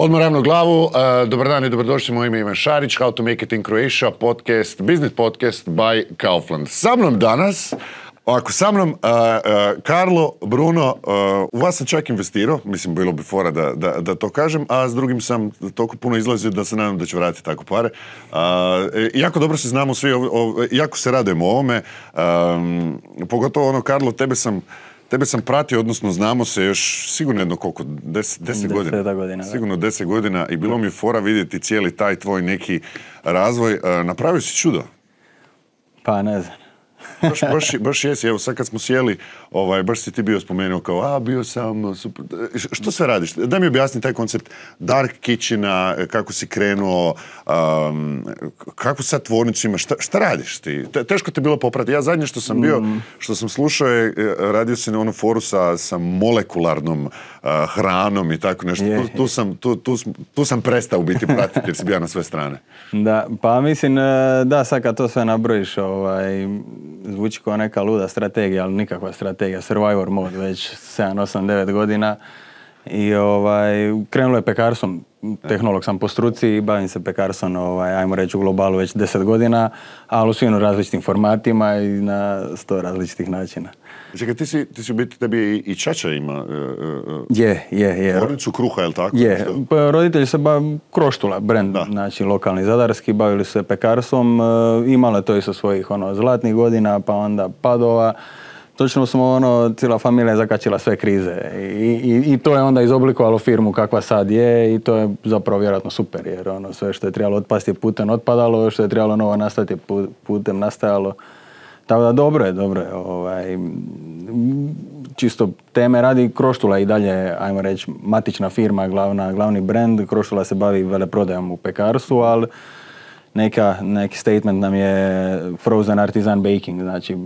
Odmah ravno glavu, dobar dan i dobrodošli, moje ime je Ivan Šarić, How to Make It in Croatia, podcast, business podcast by Kaufland. Sa mnom danas, Karlo, Bruno, u vas sam čak investirao, mislim bilo bi fora da to kažem, a s drugim sam toliko puno izlazio da se nadam da ću vratiti tako pare. Jako dobro se znamo svi, jako se radujemo ovome, pogotovo Karlo, Tebe sam pratio, odnosno znamo se još sigurno jedno koliko, 10 godina. Sigurno 10 godina i bilo mi je fora vidjeti cijeli taj tvoj neki razvoj. Napravio si čudo. Pa ne znam. Baš jesi, evo sad kad smo sjeli, baš si ti bio spomenuo kao, bio sam, super. Što sve radiš? Daj mi objasni taj koncept Dark Kitchena, kako si krenuo, kako sad tvornicu imaš, šta radiš ti? Teško ti je bilo popratiti. Ja zadnje što sam bio, što sam slušao je, radio si na onom foru sa molekularnom hranom i tako nešto. Tu sam prestao biti pratiti jer si bio na sve strane. Da, pa mislim, da, sad kad to sve nabrojiš, zvuči kao neka luda strategija, ali nikakva strategija, survivor mode već 7, 8, 9 godina i krenulo je pekarstvom, tehnolog sam po struci i bavim se pekarstvom, ajmo reći u globalu već 10 godina, ali u svim različitim formatima i na 100 različitih načina. Čekaj, ti si u biti, tebi i čača ima Je. tvornicu kruha, je li tako? Je, roditelji se Kroštula, brend, znači lokalni zadarski, bavili se pekarstvom, imale to i sa svojih zlatnih godina, pa onda padova. Točno smo cijela familija je zakačila sve krize i to je onda izoblikovalo firmu kakva sad je i to je zapravo vjerojatno super jer sve što je trebalo otpasti je putem otpadalo, što je trebalo novo nastati je putem nastajalo. Tako da dobro je. Čisto teme radi Kroštula i dalje, ajmo reći, matična firma, glavni brand. Kroštula se bavi veleprodajom u pekarstvu, ali neki statement nam je frozen artisan baking, znači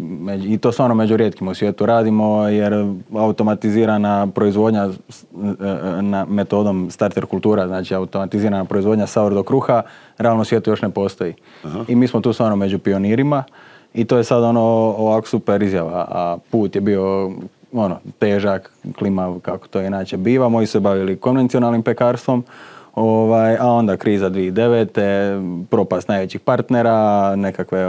i to stvarno među rijetkim u svijetu radimo jer automatizirana proizvodnja metodom starter kultura, znači automatizirana proizvodnja sourdough kruha, realno u svijetu još ne postoji. Aha. I mi smo tu stvarno među pionirima i to je sad ovako super izjava, a put je bio težak, klimav kako to inače biva. Moji se bavili konvencionalnim pekarstvom, a onda kriza 2009. propast najvećih partnera, nekakve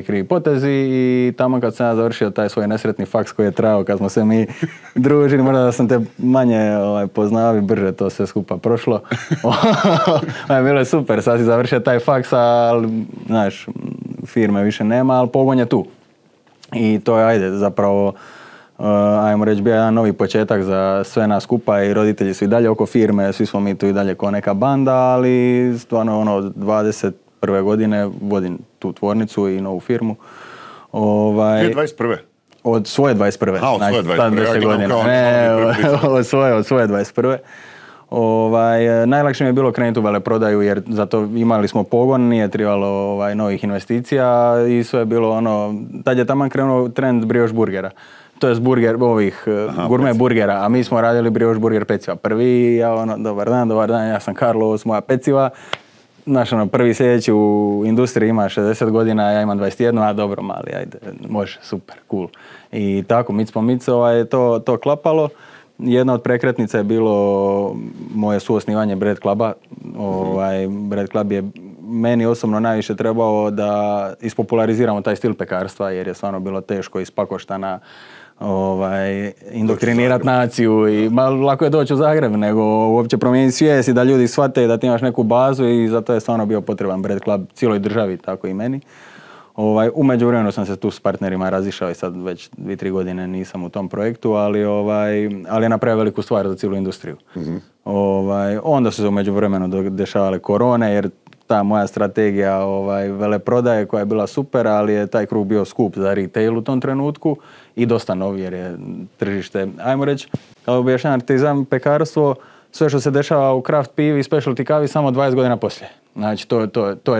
krivi potezi i tamo kad sam ja završio taj svoj nesretni faks koji je trajao kad smo se mi družili, možda da sam te manje poznao i brže to sve skupa prošlo. Bilo je super, sad si završio taj faks, ali znaš, firme više nema, ali pogon je tu. I to je, zapravo, ajmo reći, bio jedan novi početak za sve nas skupa i roditelji su i dalje oko firme, svi smo mi tu i dalje kao neka banda, ali stvarno od 21. godine vodim tu tvornicu i novu firmu. 2021. Od svoje 21. Od svoje 21. Od svoje 21. Najlakše mi je bilo krenuti u veleprodaju jer zato imali smo pogon, nije trebalo novih investicija i sve je bilo tad je taman krenuo trend brioche burgera. To je gurme burgera, a mi smo radili brioche burger peciva. Prvi, ja dobar dan, ja sam Karlo, ovo su moja peciva. Naš prvi sljedeći u industriji ima 60 godina, ja imam 21, a dobro mali, ajde, može, super, cool. I tako, mic po mic je to klapalo. Jedna od prekretnica je bilo moje suosnivanje Bread Cluba. Bread Club je meni osobno najviše trebao da ispopulariziramo taj stil pekarstva jer je stvarno bilo teško iz Pakoštana indoktrinirati naciju i lako je doći u Zagreb nego uopće promijeniti svijest i da ljudi shvate da ti imaš neku bazu i zato je stvarno bio potreban Bread Club cijeloj državi, tako i meni. U međuvremenu sam se tu s partnerima razišao i sad već 2-3 godine nisam u tom projektu, ali je napravio veliku stvar za cijelu industriju. Mm-hmm. Onda su se u međuvremenu dešavale korone jer ta moja strategija veleprodaje koja je bila super, ali je taj krug bio skup za retail u tom trenutku i dosta nov jer je tržište, ajmo reći, kao objašnjam artizam, pekarstvo, sve što se dešava u craft pivi i specialty kavi samo 20 godina poslije. Znači, to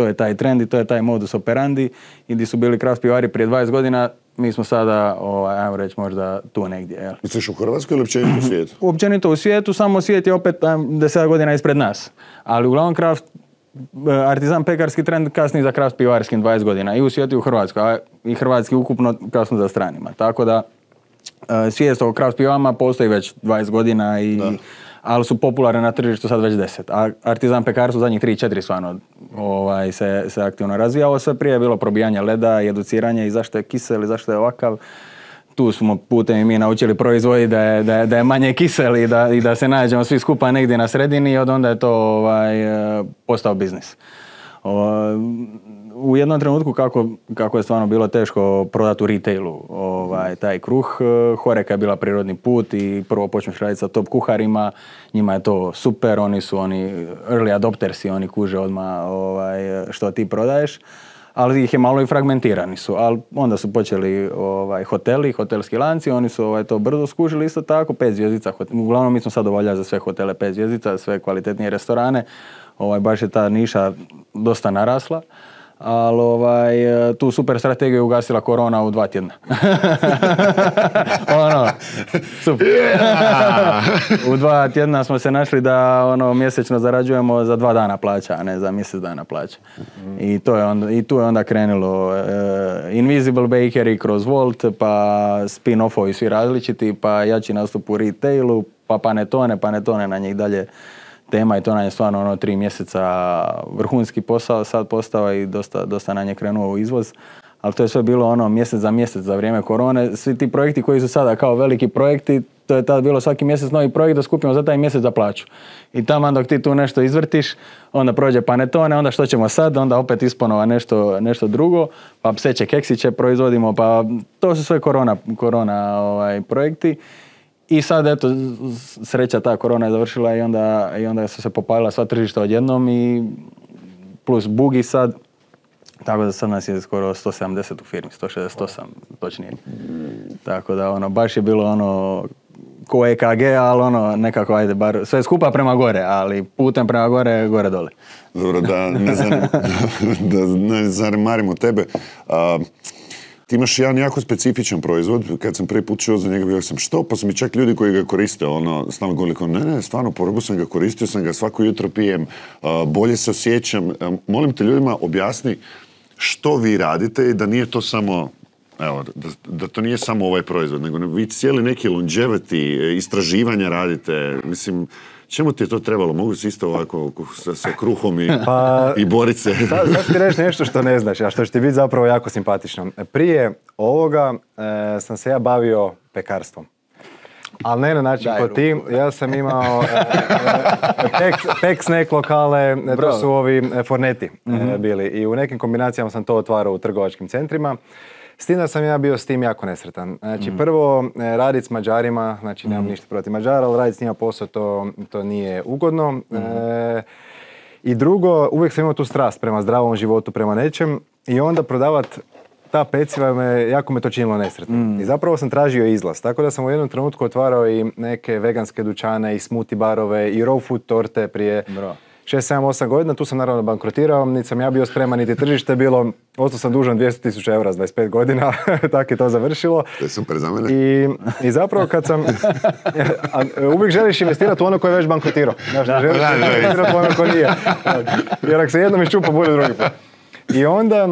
je taj trend i to je taj modus operandi i gdje su bili craft pivari prije 20 godina, mi smo sada, ajmo reći, možda tu negdje. Jel? Misliš u Hrvatskoj ili općenito u svijetu? Općenito u svijetu, samo svijet je opet 10 godina ispred nas. Ali uglavnom craft artizan pekarski trend kasni za craft pivarskim 20 godina i u svijetu i u Hrvatskoj, a i hrvatski ukupno kasno za stranima. Tako da svijest o craft pivama postoji već 20 godina i ali su popularne na tržištu sad već 10. A Artizan pekarstvo zadnjih 3-4 stvarno se aktivno razvija. Ovo sve prije je bilo probijanje leda i educiranje i zašto je kisel i zašto je ovakav. Tu smo putem i mi naučili proizvodi da je manje kisel i da se nađemo svi skupa negdje na sredini i od onda je to postao biznis. U jednom trenutku kako je stvarno bilo teško prodati u retailu taj kruh, Horeca je bila prirodni put i prvo počneš raditi sa top kuharima, njima je to super, oni su early adoptersi, oni kuže odmah što ti prodaješ, ali ih je malo i fragmentirani su, ali onda su počeli hoteli, hotelski lanci, oni su to brzo skužili isto tako, 5 zvjezdica, uglavnom mi smo sad obavljali za sve hotele 5 zvjezdica, sve kvalitetnije restorane, baš je ta niša dosta narasla, ali tu super strategiju je ugasila korona u 2 tjedna. Super. U 2 tjedna smo se našli da mjesečno zarađujemo za 2 dana plaća, a ne za mjesec dana plaća. I tu je onda krenulo Invisible Bakery kroz Volt, pa spin-offovi svi različiti, pa jači nastup u retailu, pa Panetone na njih dalje tema i to nam je stvarno 3 mjeseca vrhunski posao sad postao i dosta nam je krenuo u izvoz. Ali to je sve bilo mjesec za mjesec za vrijeme korone. Svi ti projekti koji su sada kao veliki projekti, to je tada bilo svaki mjesec novi projekt da skupimo za taj mjesec za plaću. I tamo dok ti tu nešto izvrtiš, onda prođe Panetone, onda što ćemo sad, onda opet isponova nešto drugo, pa pseće keksiće proizvodimo, pa to su sve korona projekti. I sad, eto, sreća ta korona je završila i onda su se popalila sva tržišta odjednom i plus bugi sad. Tako da sad nas je skoro 170 u firmi, 168 točnije. Tako da baš je bilo ko EKG, ali nekako ajde bar sve skupa prema gore, ali putem prema gore dole. Dobro, da ne zanemarimo tebe. Ti imaš jedan jako specifičan proizvod, kad sam prvi put čuo za njega bio sam što, pa su mi čak ljudi koji ga koriste, stalno govorili, ne, stvarno, porubu sam ga, koristio sam ga, svako jutro pijem, bolje se osjećam. Molim te ljudima, objasni što vi radite i da nije to samo, evo, da to nije samo ovaj proizvod, nego vi cijeli neki longevity, istraživanja radite, mislim, čemu ti je to trebalo? Mogu se isto ovako sa kruhom i borit se? Sad ti reći nešto što ne znaš, a što će ti biti zapravo jako simpatično. Prije ovoga sam se ja bavio pekarstvom. Ali ne na način kao ti. Ja sam imao pek snack lokale, to su ovi forneti bili. I u nekim kombinacijama sam to otvarao u trgovačkim centrima. S tim da sam ja bio s tim jako nesretan. Znači, prvo, raditi s Mađarima, znači nemam ništa protiv Mađara, ali raditi s njima posao, to nije ugodno. I drugo, uvijek sam imao tu strast prema zdravom životu, prema nečem. I onda prodavati ta peciva, jako me to činilo nesretno. I zapravo sam tražio izlaz. Tako da sam u jednom trenutku otvarao i neke veganske dućane, i smoothie barove, i raw food torte prije 6, 7, 8 godina. Tu sam naravno bankrotirao, niti sam ja bio spreman, niti tržište bilo. Ostao sam dužan 200.000 eura s 25 godina, tako je to završilo. To je super za mene. I zapravo kad sam... uvijek želiš investirati u ono koje je već bankrotirao. Znaš, želiš investirati u ono koje nije. Jer ako se jednom iščupa, bude drugi put. I onda,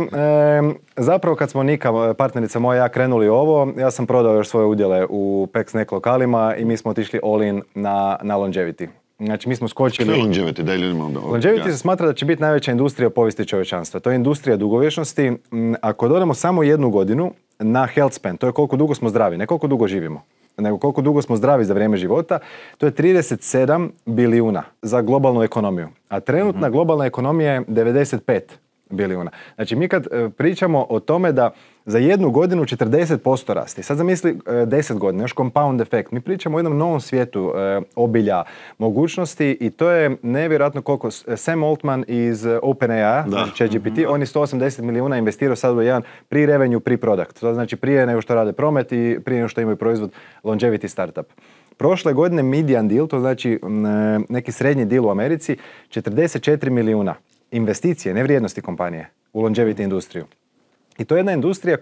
zapravo kad smo Nika, partnerica moja, ja krenuli ovo, ja sam prodao još svoje udjele u Pek Snack lokalima i mi smo otišli all in na longevity. Znači, mi smo skočili... Što je longevity? Daj ljudima onda. Longevity se smatra da će biti najveća industrija u povijesti čovječanstva. To je industrija dugovječnosti. Ako dodamo samo 1 godinu na health span, to je koliko dugo smo zdravi, ne koliko dugo živimo, nego koliko dugo smo zdravi za vrijeme života, to je 37 bilijuna za globalnu ekonomiju. A trenutna globalna ekonomija je 95 bilijuna. Znači, mi kad pričamo o tome da za 1 godinu 40% rasti, sad zamisli 10 godina, još compound efekt, mi pričamo o jednom novom svijetu obilja, mogućnosti i to je nevjerojatno koliko Sam Altman iz OpenAI, znači ChatGPT, on je 180 milijuna investirao sad u jedan pre-revenue, pre-product. To znači prije nego što rade promet i prije nego što imaju proizvod longevity startup. Prošle godine median deal, to znači neki srednji deal u Americi, 44 milijuna investicije, ne vrijednosti kompanije, u longevity industriju. I to je jedna industrija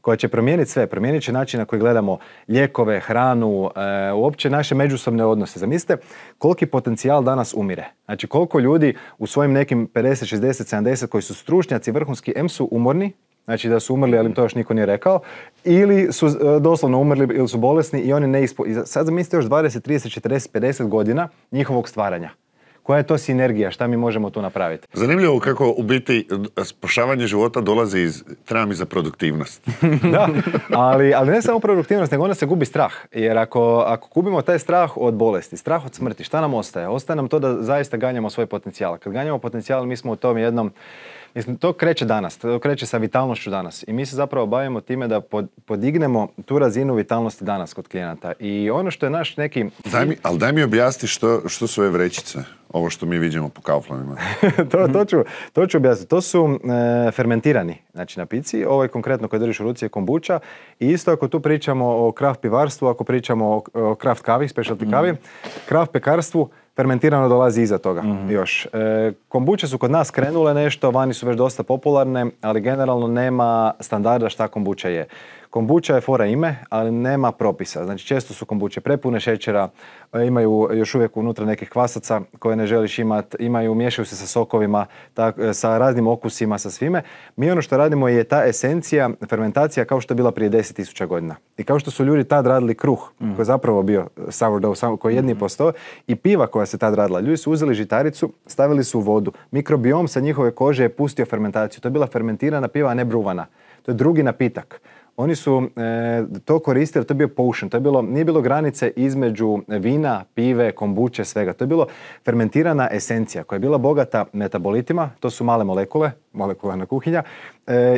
koja će promijeniti sve. Promijenit će način na koji gledamo lijekove, hranu, uopće naše međusobne odnose. Zamislite koliki potencijal danas umire. Znači koliko ljudi u svojim nekim 50, 60, 70 koji su stručnjaci vrhunski, em su umorni, znači da su umrli, ali im to još niko nije rekao, ili su doslovno umrli ili su bolesni i oni sad zamislite još 20, 30, 40, 50 godina njihovog stvaranja. Koja je to sinergija? Šta mi možemo tu napraviti? Zanimljivo kako u biti spašavanje života dolazi treba mi za produktivnost. Da, ali ne samo produktivnost, nego onda se gubi strah. Jer ako gubimo taj strah od bolesti, strah od smrti, šta nam ostaje? Ostaje nam to da zaista ganjamo svoj potencijal. Kad ganjamo potencijal, mi smo u tom jednom... Mislim, to kreće danas, to kreće sa vitalnošću danas. I mi se zapravo bavimo time da podignemo tu razinu vitalnosti danas kod klijenata. I ono što je naš neki... Daj mi objasni što su ove vrećice, ovo što mi vidimo po Kauflandima. to ću objasniti. To su fermentirani, znači napici. Ovo je konkretno koji držiš u ruci je kombuča. I isto ako tu pričamo o kraft pivarstvu, ako pričamo o kraft kavi, specialty kavi, kraft pekarstvu, fermentirano dolazi iza toga još. Kombuče su kod nas krenule nešto, vani su već dosta popularne, ali generalno nema standarda šta kombuča je. Kombuča je fora ime, ali nema propisa. Znači često su kombuče prepune šećera, imaju još uvijek unutra nekih kvasaca koje ne želiš imati, miješaju se sa sokovima, sa raznim okusima, sa svime. Mi ono što radimo je ta esencija, fermentacija kao što je bila prije 10.000 godina. I kao što su ljudi tad radili kruh, koji je zapravo bio sourdough, koji je 1,5%, i piva koja se tad radila. Ljudi su uzeli žitaricu, stavili su u vodu. Mikrobiom sa njihove kože je pustio fermentaciju. To je bila fermentirana piva, a ne bruvana. To je drugi napitak. Oni su to koristili, to je bio potion, nije bilo granice između vina, pive, kombuče, svega. To je bilo fermentirana esencija koja je bila bogata metabolitima, to su male molekule, molekularna kuhinja,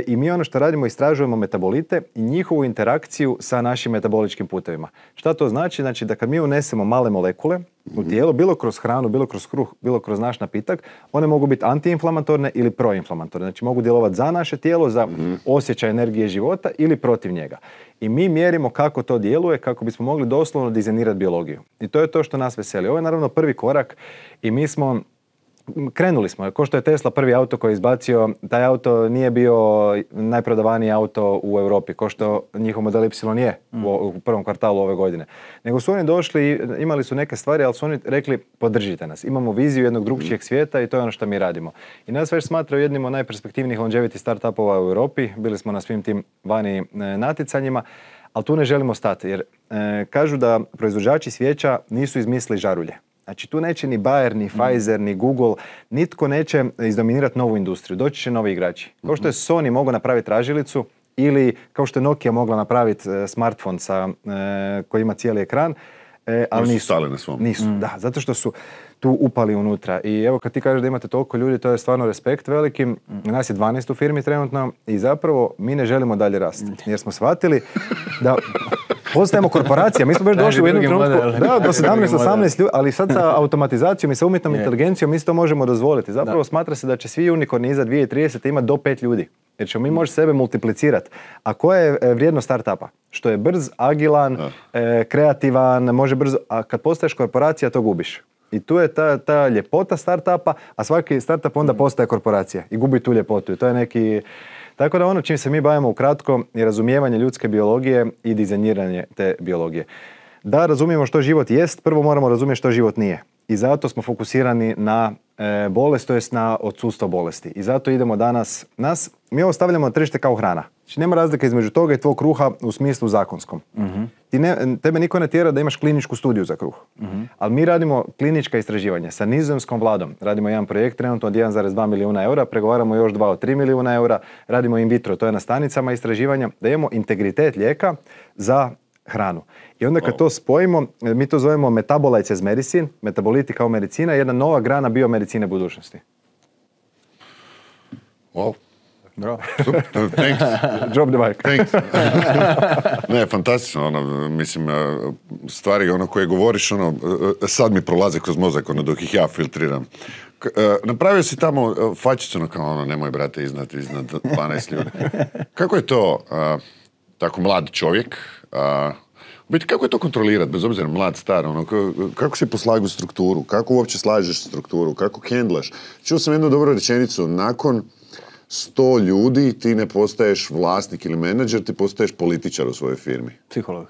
i mi ono što radimo, istražujemo metabolite i njihovu interakciju sa našim metaboličkim putevima. Šta to znači? Znači da kad mi unesemo male molekule u tijelo, bilo kroz hranu, bilo kroz kruh, bilo kroz naš napitak, one mogu biti antiinflamatorne ili proinflamatorne. Znači mogu djelovati za naše tijelo, za osjećaj energije života ili protiv njega. I mi mjerimo kako to djeluje, kako bismo mogli doslovno dizajnirati biologiju. I to je to što nas veseli. Ovo je naravno prvi korak i mi smo krenuli smo. Ko što je Tesla prvi auto koji je izbacio, taj auto nije bio najprodavaniji auto u Europi, ko što njihov model Y je u prvom kvartalu ove godine. Nego su oni došli, imali su neke stvari, ali su oni rekli podržite nas. Imamo viziju jednog drugčijeg svijeta i to je ono što mi radimo. I nas već smatraju jednim od najperspektivnijih longevity startupova u Europi. Bili smo na svim tim vani natjecanjima, ali tu ne želimo stati jer kažu da proizvođači svijeća nisu izmislili žarulje. Znači tu neće ni Bayer, ni Pfizer, ni Google, nitko neće izdominirati novu industriju. Doći će novi igrači. Kao što je Sony mogao napraviti tražilicu ili kao što je Nokia mogla napraviti smartphone koji ima cijeli ekran, ali nisu stali na svom. Nisu, da, zato što su tu upali unutra. I evo kad ti kažeš da imate toliko ljudi, to je stvarno respekt veliki. Nas je 12 u firmi trenutno i zapravo mi ne želimo dalje rasti. Jer smo shvatili da postajemo korporacija. Mi smo već došli u jednom trenutku do 17-18 ljudi, ali sad sa automatizacijom i sa umjetnom inteligencijom mi to možemo dozvoliti. Zapravo smatra se da će svi unikorni iza 2030 imati do 5 ljudi. Jer ćemo mi moći sebe multiplicirati. A koja je vrijednost startupa? Što je brz, agilan, kreativan, može brzo, a kad postaješ korporacija to gubiš. I tu je ta ljepota startupa, a svaki startup onda postaje korporacija i gubi tu ljepotu. I to je neki... Tako da ono čim se mi bavimo ukratko je razumijevanje ljudske biologije i dizajniranje te biologije. Da razumijemo što život jest, prvo moramo razumjeti što život nije. I zato smo fokusirani na bolest, to jest na odsustvo bolesti. I zato idemo danas, mi ovo stavljamo na tržište kao hrana. Znači nema razlike između toga i tvog kruha u smislu zakonskom. Tebe niko ne tjera da imaš kliničku studiju za kruh. Ali mi radimo klinička istraživanja sa nizozemskom vladom. Radimo jedan projekt trenutno od 1,2 milijuna eura, pregovaramo još 2 od 3 milijuna eura, radimo in vitro, to je na stanicama istraživanja, da imamo integritet lijeka za hranu. I onda kad to spojimo, mi to zovemo metabolites as medicine, metaboliti kao medicina, jedna nova grana biomedicine budućnosti. Wow. Bravo. Thanks. Drop the mic. Thanks. Ne, fantastično, mislim, stvari koje govoriš, sad mi prolaze kroz mozak, dok ih ja filtriram. Napravio si tamo fačicu, kao nemoj brate iznad 12 ljudi. Kako je to, tako mlad čovjek, biti, kako je to kontrolirati, bez obzira mlad, star, kako si poslagu strukturu, kako uopće slažeš strukturu, kako kendlaš? Čuo sam jednu dobru rečenicu, nakon 100 ljudi ti ne postaješ vlasnik ili menadžer, ti postaješ političar u svojoj firmi. Psiholog.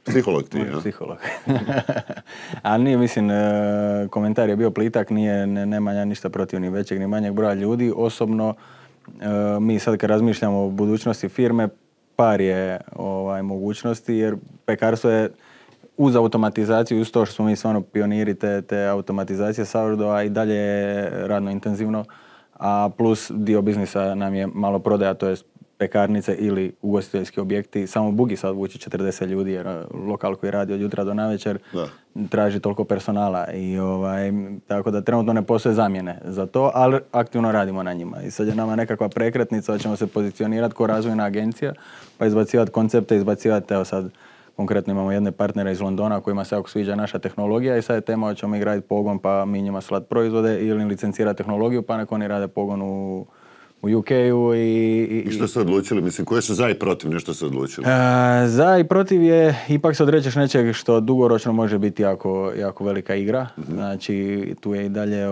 Psiholog ti, ja? Psiholog. A nije, mislim, komentar je bio plitak, nema ja ništa protiv ni većeg ni manjeg broja ljudi. Osobno, mi sad kad razmišljamo o budućnosti firme, par je mogućnosti, jer pekarstvo je uz automatizaciju, uz to što smo mi stvarno pioniri te automatizacije sourdougha i dalje je radno intenzivno, a plus dio biznisa nam je malo prodaja, to je pekarnice ili ugostiteljski objekti. Samo Bugi sad vuči 40 ljudi jer lokal koji radi od jutra do navečer traži toliko personala i tako da trenutno ne postoje zamjene za to, ali aktivno radimo na njima. I sad je nama nekakva prekretnica da ćemo se pozicionirati kao razvojna agencija, pa izbacivati koncepte, izbacivati, evo sad konkretno imamo jedne partnere iz Londona kojima se jako sviđa naša tehnologija i sad je tema hoćemo mi graditi pogon pa mi njima slati proizvode ili licencirati tehnologiju pa nek oni rade pogon u UK-u I što ste odlučili? Mislim, koje su za i protiv nešto ste odlučili? Za i protiv je, ipak se odrećeš nečeg što dugoročno može biti jako velika igra. Znači, tu je i dalje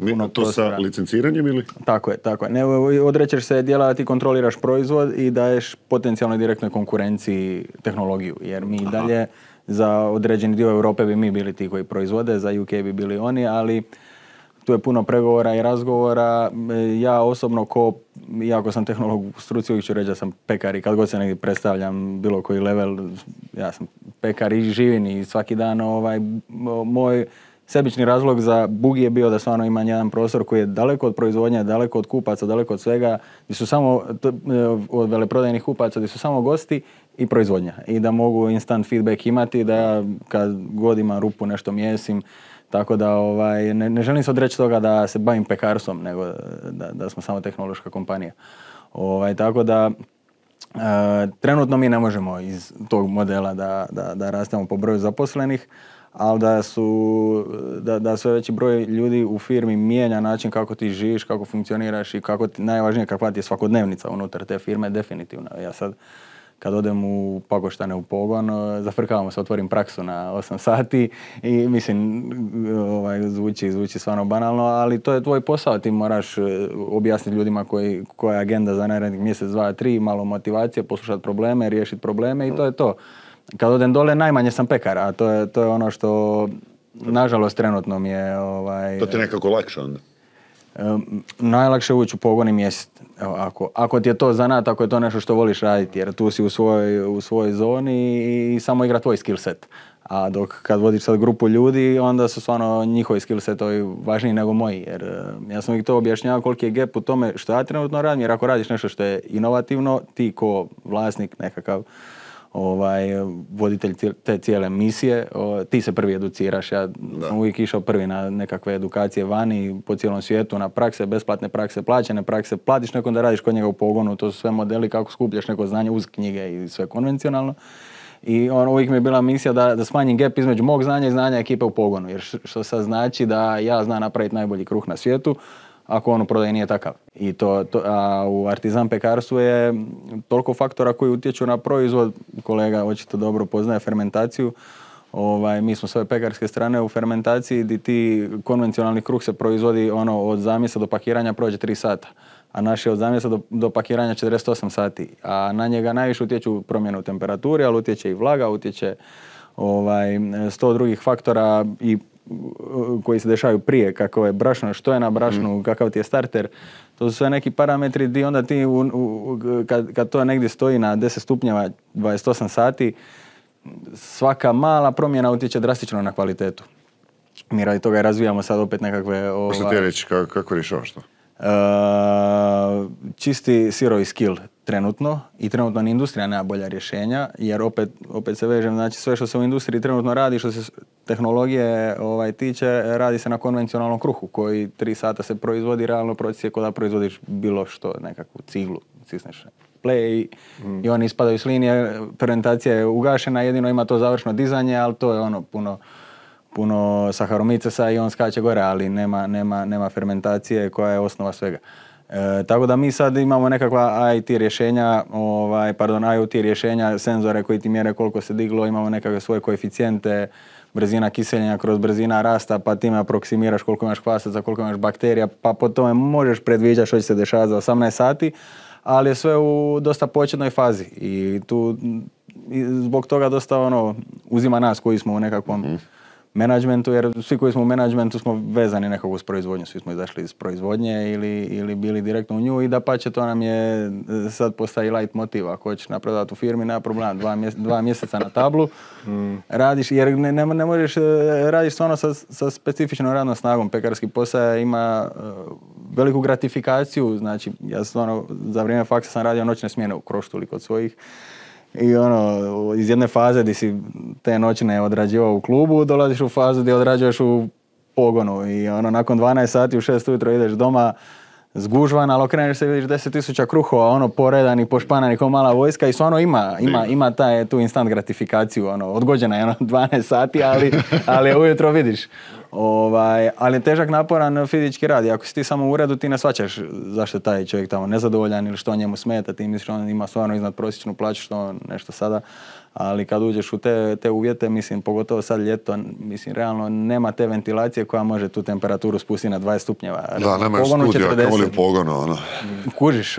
puno to prostora. sa licenciranjem ili? Tako je. Ne, odrećeš se dijela da ti kontroliraš proizvod i daješ potencijalno direktnoj konkurenciji tehnologiju. Jer mi dalje za određeni dio Europe bi mi bili ti koji proizvode, za UK bi bili oni, ali tu je puno pregovora i razgovora. Ja osobno, iako sam tehnolog u struci, uvijek ću reći da sam pekar i kad god se negdje predstavljam bilo koji level, ja sam pekar i živim i svaki dan moj sebični razlog za Bugi je bio da stvarno imam jedan prostor koji je daleko od proizvodnje, daleko od kupaca, daleko od svega, gdje su samo od veleprodajnih kupaca, gdje su samo gosti i proizvodnja. I da mogu instant feedback imati, da ja kad god imam rupu nešto mjesim. Tako da ne želim se odreći toga da se bavim pekarstvom, nego da smo samo tehnološka kompanija. Tako da trenutno mi ne možemo iz tog modela da rastemo po broju zaposlenih, ali da sve veći broj ljudi u firmi mijenja način kako ti živiš, kako funkcioniraš i najvažnije kakva ti je svakodnevnica unutar te firme, definitivno. Ja sad kad odem u Pakoštane u pogon, zafrkavamo se, otvorim praksu na 8 sati i mislim, zvuči stvarno banalno, ali to je tvoj posao, ti moraš objasniti ljudima koja je agenda za narednih mjesec, 2, 3, malo motivacije, poslušati probleme, riješiti probleme i to je to. Kad odem dole, najmanje sam pekar, a to je ono što, nažalost, trenutno mi je... To ti je nekako lakše onda? Najlakše ući u pogon i mjesec. Ako ti je to zanat, ako je to nešto što voliš raditi, jer tu si u svojoj zoni i samo igra tvoj skill set. A dok kad vodiš sad grupu ljudi, onda su stvarno njihovi skill setovi važniji nego moji. Jer ja sam ih to objašnjavao koliki je gap u tome što ja trenutno radim, jer ako radiš nešto što je inovativno, ti ko vlasnik nekakav voditelj te cijele misije, ti se prvi educiraš. Ja sam uvijek išao prvi na nekakve edukacije vani, po cijelom svijetu, na prakse, besplatne prakse, plaćene prakse, platiš nekom da radiš kod njega u pogonu, to su sve modeli kako skupljaš neko znanje uz knjige i sve konvencionalno. I uvijek mi je bila misija da smanjim gap između mog znanja i znanja ekipe u pogonu, jer što sad znači da ja znam napraviti najbolji kruh na svijetu, ako on u prodaji nije takav. I a u artizan pekarstvu je toliko faktora koji utječu na proizvod. Kolega očito dobro poznaje fermentaciju. Mi smo s ove pekarske strane u fermentaciji gdje ti konvencionalni kruh se proizvodi od zamjesa do pakiranja prođe 3 sata. A naš je od zamjesa do pakiranja 48 sati. A na njega najviše utječu promjene u temperaturi, ali utječe i vlaga, utječe 100 drugih faktora i koji se dešavaju prije, kako je brašno, što je na brašnu, kakav ti je starter. To su sve neki parametri gdje onda ti kad to negdje stoji na 10 stupnjeva 28 sati, svaka mala promjena utječe drastično na kvalitetu. Mi radi toga razvijamo sad opet nekakve... Što ti reći, kako rješavaš to? Čisti sirovi skill trenutno i trenutno ni industrija nema bolja rješenja, jer opet se vežem, znači sve što se u industriji trenutno radi, što se tehnologije tiče, radi se na konvencionalnom kruhu koji 3 sata se proizvodi, realno proces je kao da proizvodiš bilo što, nekakvu ciglu, cisneš play i oni ispadaju s linije, fermentacija je ugašena, jedino ima to završno dizanje, ali to je puno saharomicesa i on skače gore, ali nema fermentacije koja je osnova svega. Tako da mi sad imamo nekakva IoT rješenja, senzore koji ti mjere koliko se diglo, imamo nekakve svoje koeficijente, brzina kiseljenja kroz brzina rasta, pa time aproksimiraš koliko imaš kvasaca, koliko imaš bakterija, pa po tome možeš predviđati što će se dešavati za 18 sati, ali je sve u dosta početnoj fazi i tu zbog toga dosta uzima nas koji smo u nekakvom menadžmentu, jer svi koji smo u menadžmentu smo vezani nekako uz proizvodnju, svi smo izašli iz proizvodnje ili bili direktno u nju i dapače to nam je sad postaje light motiv, ako hoćeš napredovati u firmi, nema problema, 2 mjeseca na tablu radiš, jer ne možeš, radiš stvarno sa specifičnom radnom snagom, pekarski posao ima veliku gratifikaciju, znači ja stvarno za vrijeme faksa sam radio noćne smjene u Kroštuli kod svojih. I iz jedne faze gdje si te noćne odrađivao u klubu, dolaziš u fazu gdje odrađuješ u pogonu i nakon 12 sati u 6 ujutro ideš doma zgužvan, ali okreneš se i vidiš 10.000 kruhova, poredani, pošpanani kao mala vojska i stvarno ima tu instant gratifikaciju, odgođena je 12 sati, ali ujutro vidiš. Ali je težak, naporan fizički rad i ako si ti samo u uredu ti ne shvaćaš zašto je taj čovjek tamo nezadovoljan ili što njemu smeta, ti misliš on ima stvarno iznad prosječnu plaću, što nešto sada, ali kad uđeš u te uvjete, mislim, pogotovo sad ljeto, mislim, realno nema te ventilacije koja može tu temperaturu spustiti na 20 stupnjeva. Da, nema još studija, kako li u pogonu, Kužiš,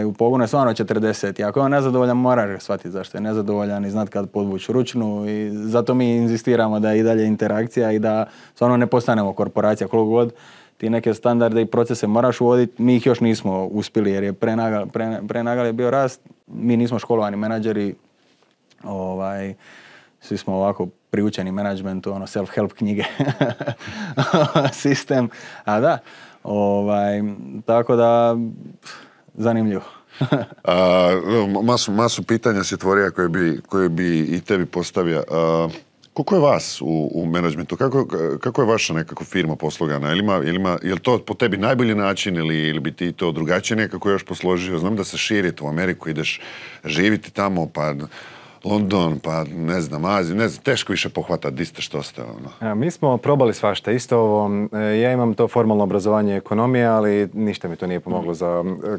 u pogonu je stvarno 40 i ako je on nezadovoljan, moraš shvatiti zašto je nezadovoljan i znat kad podvući ručnu i zato mi inzistiramo da je i dalje interakcija i da stvarno ne postanemo korporacija, koliko god ti neke standarde i procese moraš uvoditi, mi ih još nismo uspjeli jer je prenagal je bio rast, mi nismo školovani menadžeri, svi smo ovako priučeni menadžmentu, self-help knjige, sistem, a da, tako da, zanimljivo. Masu pitanja si otvorio koje bi i tebi postavio. Koliko je vas u menadžmentu? Kako je vaša nekako firma poslogana? Je li to po tebi najbolji način ili bi ti to drugačije nekako još posložio? Znam da se širite u Ameriku, ideš živiti tamo, pa London, pa ne znam, Aziju, ne znam, teško više pohvatati di ste što ste. Mi smo probali svašta, isto ovo, ja imam to formalno obrazovanje ekonomije, ali ništa mi to nije pomoglo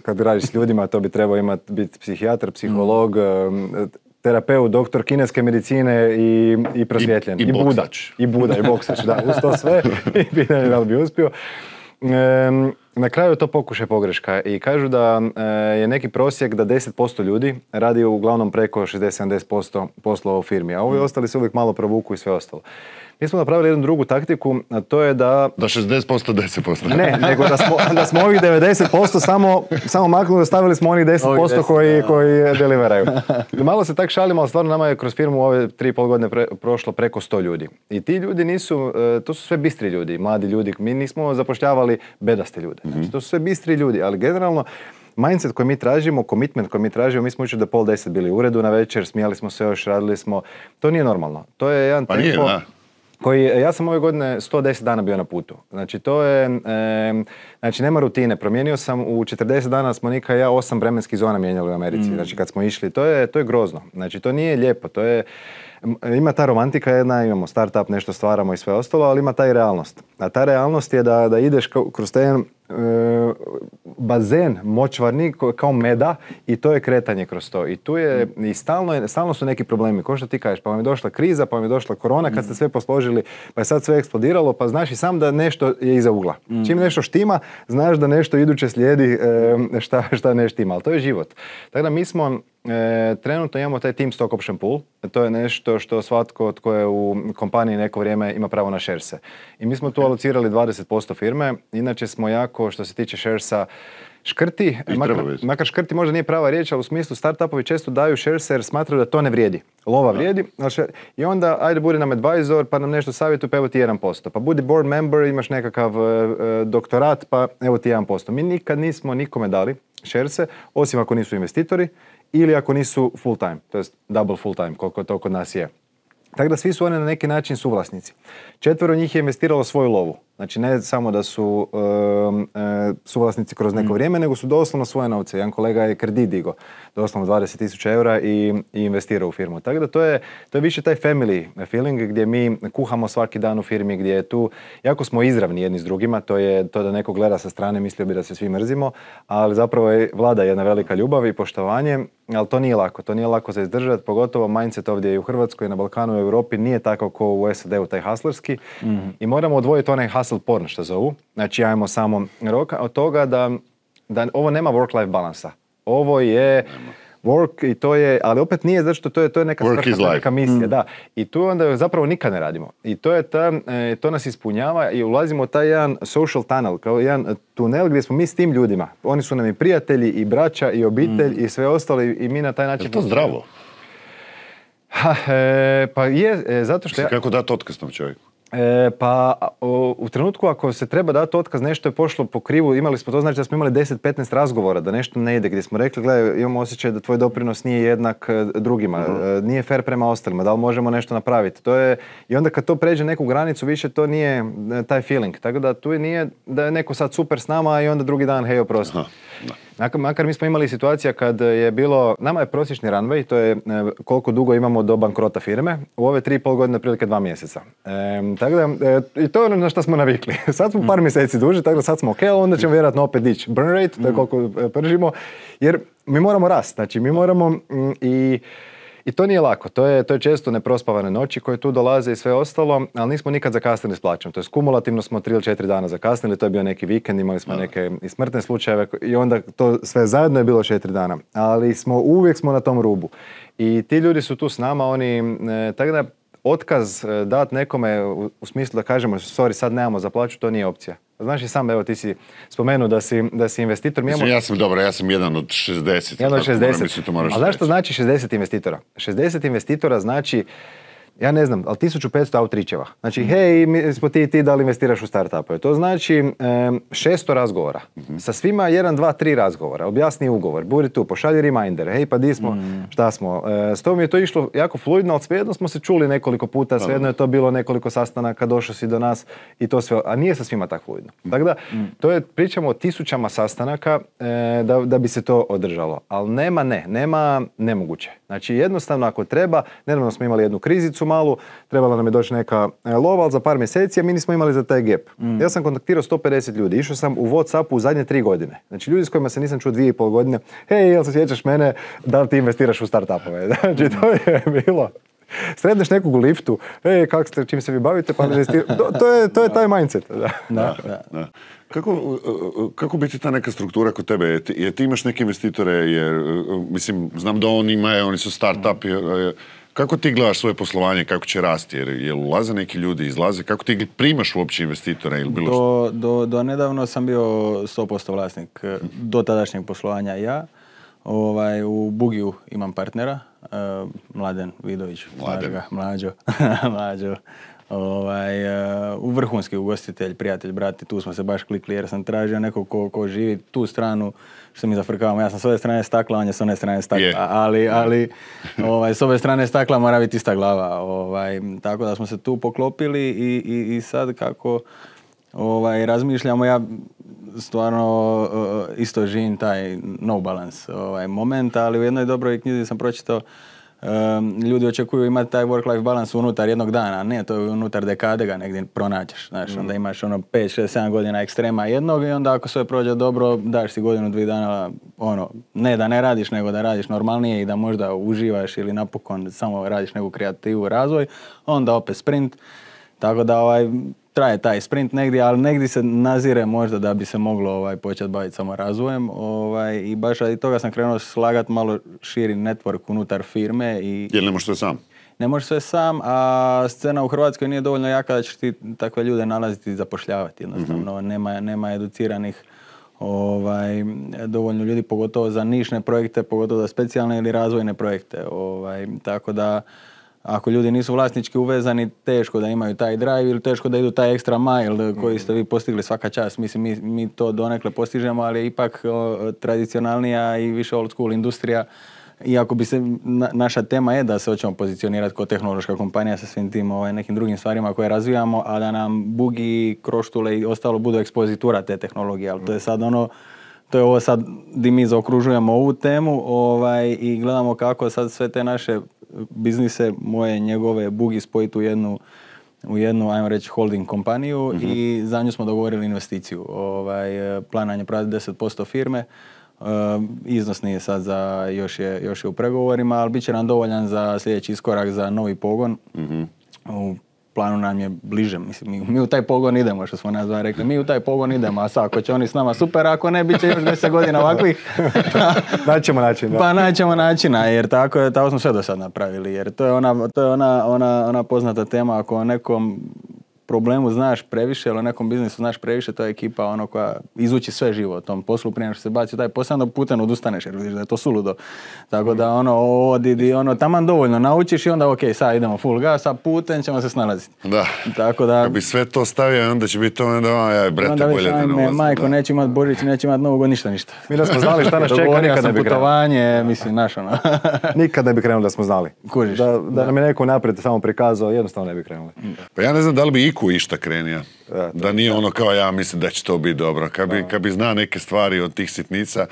kad radiš s ljudima, to bi trebao biti psihijatar, psiholog, terapeut, doktor kineske medicine i prosvjetljen. I boksač. I Buda, i boksač, da, uz to sve. I pitanje da li bi uspio. Na kraju je to pokušaj pogreška i kažu da je neki prosjek da 10% ljudi radi uglavnom preko 60-70% poslova u firmi, a ovi ostali se uvijek malo provuku i sve ostalo. Mi smo napravili jednu drugu taktiku, a to je da... Da 60%, 10%. Ne, nego da smo ovih 90% samo maknuli, ostavili smo onih 10% koji deliveraju. Malo se tak šalimo, ali stvarno nama je kroz firmu ove 3,5 godine prošlo preko 100 ljudi. I ti ljudi nisu, to su sve bistri ljudi, mladi ljudi. Mi nismo zapošljavali bedaste ljude. Znači, to su sve bistri ljudi, ali generalno mindset koji mi tražimo, commitment koji mi tražimo, mi smo jučer do 9:30 bili u uredu na večer, smijali smo se još, radili smo. To nije normalno. To je jedan tempo koji, ja sam ove godine 110 dana bio na putu. Znači to je, znači nema rutine. Promijenio sam u 40 dana smo Nika i ja 8 vremenskih zona mijenjali u Americi. Znači kad smo išli, to je grozno. Znači to nije lijepo, to je, ima ta romantika jedna, imamo startup, nešto stvaramo i sve ostalo, ali ima ta i realnost. A ta realnost je da ideš kroz ten bazen močvarni kao meda i to je kretanje kroz to. I tu je, i stalno su neki problemi. Ko što ti kažeš, pa vam je došla kriza, pa vam je došla korona, kad ste sve posložili, pa je sad sve eksplodiralo, pa znaš i sam da nešto je iza ugla. Čim nešto štima, znaš da nešto iduće slijedi šta ne štima, ali to je život. Tako da mi smo trenutno imamo taj team stock option pool. To je nešto što svatko tko je u kompaniji neko vrijeme ima pravo na sharese. I mi smo tu alocirali 20% firme. Inače smo jako, što se tiče sharesa, škrti, makar škrti možda nije prava riječ, ali u smislu startupovi često daju sharese jer smatraju da to ne vrijedi. Lova vrijedi. I onda ajde budi nam advisor pa nam nešto savjetuje pa evo ti 1%. Pa budi board member, imaš nekakav doktorat pa evo ti 1%. Mi nikad nismo nikome dali sharese, osim ako nisu investitori ili ako nisu full time, to jest double full time, koliko to kod nas je. Tako da svi su oni na neki način suvlasnici. 4 njih je investiralo svoju lovu. Znači ne samo da su suvlasnici kroz neko vrijeme, nego su doslovno svoje novce. Jedan kolega je kredit digo, doslovno 20.000 eura i investirao u firmu. Tako da to je više taj family feeling gdje mi kuhamo svaki dan u firmi, gdje je tu, jako smo izravni jedni s drugima, to je to da neko gleda sa strane, mislio bi da se svi mrzimo, ali zapravo vlada jedna velika ljubav i poštovanje, ali to nije lako za izdržati, pogotovo mindset ovdje i u Hrvatskoj, na Balkanu, u Europi nije tako kao u SAD-u, taj hustlerski, i moramo odvojiti onaj hustle porn što zovu, znači ajmo samo roka od toga da ovo nema work-life balansa. Ovo je work i to je, ali opet nije zato što to je neka Work is svrha, life. neka misija, da. I tu onda zapravo nikad ne radimo. I to nas ispunjava i ulazimo u taj jedan social tunnel, kao jedan tunel gdje smo mi s tim ljudima. Oni su nam i prijatelji, i braća, i obitelj, i sve ostalo i mi na taj način... Je to zdravo? Pa je, zato što... Kako dati otkaz tom čovjeku? U trenutku ako se treba dati otkaz, nešto je pošlo po krivu, imali smo to, znači da smo imali 10-15 razgovora, da nešto ne ide, gdje smo rekli, gledaj, imamo osjećaj da tvoj doprinos nije jednak drugima, nije fair prema ostalima, da li možemo nešto napraviti. I onda kad to pređe neku granicu, više to nije taj feeling. Tako da tu nije da je neko sad super s nama i onda drugi dan, hej, oprosti. Makar mi smo imali situacija kad je bilo, nama je prosječni runway, to je koliko dugo imamo do bankrota firme, u ove 3,5 godine prilike 2 mjeseca. Tako da, i to je ono na što smo navikli. Sad smo par mjeseci duže, tako da sad smo ok, onda ćemo vjerojatno opet dići burn rate, to je koliko pržimo, jer mi moramo rast, znači mi moramo i to nije lako, to je često neprospavane noći koje tu dolaze i sve ostalo, ali nismo nikad zakasnili s plaćom. To je kumulativno smo 3 ili 4 dana zakasnili, to je bio neki vikend, imali smo neke i smrtne slučajeve i onda to sve zajedno je bilo 4 dana. Ali uvijek smo na tom rubu. I ti ljudi su tu s nama, tako da otkaz dati nekome u smislu da kažemo sorry, sad nemamo za plaću, to nije opcija. Znaš i sam, evo ti si spomenuo da si investitor. Ja sam jedan od 60. Jedan od 60. A znaš što znači 60 investitora? 60 investitora znači, ja ne znam, ali 1500 outreacheva. Znači, hej, mi smo ti da li investiraš u startupove. To znači 600 razgovora. Sa svima 1, 2, 3 razgovora. Objasni ugovor, budi tu, pošalji reminder. Hej, pa di smo, šta smo. S tom je to išlo jako fluidno, ali svejedno smo se čuli nekoliko puta, svejedno je to bilo nekoliko sastanaka, došao si do nas i to sve. A nije sa svima tako fluidno. Tako da, pričamo o 1000 sastanaka da bi se to održalo. Ali nema nemoguće. Znači, jednostavno ako treba, nedavno smo imali jednu krizicu malu, trebala nam je doći neka lova, ali za par mjeseci, a mi nismo imali za taj gap. Ja sam kontaktirao 150 ljudi, išao sam u Whatsappu u zadnje 3 godine. Znači, ljudi s kojima se nisam čuo 2,5 godine, hej, jel se sjećaš mene, da li ti investiraš u startupove? Znači, to je bilo. Sretneš nekog u liftu, čim se vi bavite, pa to je taj mindset. Da. Kako biti ta neka struktura kod tebe? Jer ti imaš neke investitore, jer, mislim, znam da oni su start-up, kako ti gledaš svoje poslovanje, kako će rasti? Jer ulaze neki ljudi, izlaze, kako ti primaš uopće investitore? Ili bilo do nedavno sam bio 100% vlasnik do tadašnjeg poslovanja ja. U Bugiju imam partnera, Mladen Vidović, Mlađo. U vrhunski ugostitelj, prijatelj, brati, tu smo se baš klikli jer sam tražio nekog ko živi tu stranu što mi zafrkavamo. Ja sam s ove strane stakla, on je s one strane stakla, ali s ove strane stakla mora biti ista glava. Tako da smo se tu poklopili i sad kako razmišljamo, ja stvarno isto živim taj no balance moment, ali u jednoj dobroj knjizi sam pročitao ljudi očekuju imati taj work-life balance unutar jednog dana, ne, to je unutar dekade ga negdje pronađeš, znaš, onda imaš 5, 6, 7 godina ekstrema jednog i onda ako sve prođe dobro, daš si 1-2 dana, ne da ne radiš, nego da radiš normalnije i da možda uživaš ili napokon samo radiš neku kreativu, razvoj, onda opet sprint, tako da traje taj sprint negdje, ali negdje se nazire možda da bi se moglo početi baviti samo razvojem i baš radi toga sam krenuo slagati malo širi network unutar firme. Jer ne možeš sve sam? Ne možeš sve sam, a scena u Hrvatskoj nije dovoljno jaka da ćeš ti takve ljude nalaziti i zapošljavati. Jednostavno, nema educiranih dovoljno ljudi, pogotovo za nišne projekte, pogotovo za specijalne ili razvojne projekte. Tako da ako ljudi nisu vlasnički uvezani, teško da imaju taj drive ili teško da idu taj extra mile koji ste vi postigli svaka čast. Mislim, mi to donekle postižemo, ali je ipak tradicionalnija i više old school industrija. Iako bi se, naša tema je da se hoćemo pozicionirati kao tehnološka kompanija sa svim tim nekim drugim stvarima koje razvijamo, a da nam bugi, kroštule i ostalo budu ekspozitura te tehnologije. Ali to je sad to je ovo sad gdje mi zaokružujemo ovu temu i gledamo kako sad sve te naše biznise, moje, njegove, bugi spojiti u jednu, ajmo reći, holding kompaniju i za nju smo dogovorili investiciju. Plan nam je prodati 10% firme, iznos nije sad još je u pregovorima, ali bit će nam dovoljan za sljedeći iskorak za novi pogon u planu nam je bliže. Mislim, mi u taj pogon idemo, što smo nazva rekli. Mi u taj pogon idemo, a sad ako će oni s nama super, ako ne, bit će još 10 godina ovakvih. Naćemo način, da. Pa naćemo načina, jer tako smo sve do sad napravili. Jer to je ona poznata tema, ako nekom problemu znaš previše ili o nekom biznisu znaš previše, to je ekipa ono koja izuči sve živo o tom poslu prije nego što se baci u taj posao, onda putem odustaneš jer vidiš da je to suludo. Tako da taman dovoljno naučiš i onda ok, sad idemo full gas, a putem ćemo se snalaziti. Da. Tako da... Kad bi sve to stavio, onda će biti to, brate, bolje da ne ulazim. Majko, neće imat Božić, neće imat Novu godinu, ništa. Mi da smo znali šta nas čeka, nikad ne bi putovanje, mislim, naš ono. Nikad ne bi krenuli da smo znali. Kužiš. Da nam je neko naprijed samo prikazao, jednostavno ne bi krenuli. Pa ja ne znam da li bi iku išta krenija. Da nije ono kao ja mislim da će to biti dobro. Kad bi zna neke stvari od tih sitnica,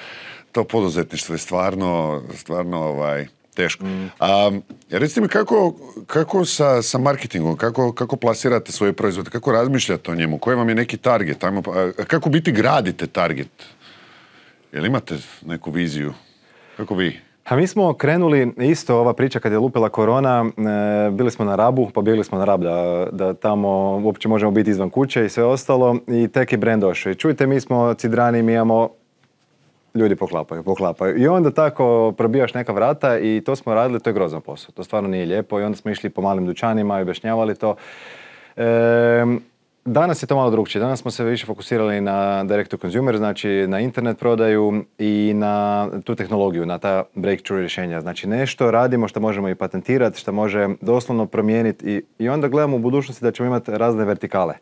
to poduzetništvo je stvarno teško. Recite mi kako sa marketingom, kako plasirate svoje proizvode, kako razmišljate o njemu, koji vam je neki target, kako biti gradite target? Jel imate neku viziju? Kako vi? A mi smo krenuli, isto ova priča kad je lupila korona, bili smo na Rabu, pobjegli smo na Rab da tamo uopće možemo biti izvan kuće i sve ostalo i tek je brand došao. I čujte, mi smo cidrani, mi imamo, ljudi poklapaju. I onda tako probijaš neka vrata i to smo radili, to je grozan posao. To stvarno nije lijepo i onda smo išli po malim dućanima i objašnjavali to. Danas je to malo drugčije. Danas smo se više fokusirali na direct to consumer, znači na internet prodaju i na tu tehnologiju, na ta breakthrough rješenja. Znači nešto radimo što možemo i patentirati, što može doslovno promijeniti i onda gledamo u budućnosti da ćemo imati razne vertikale.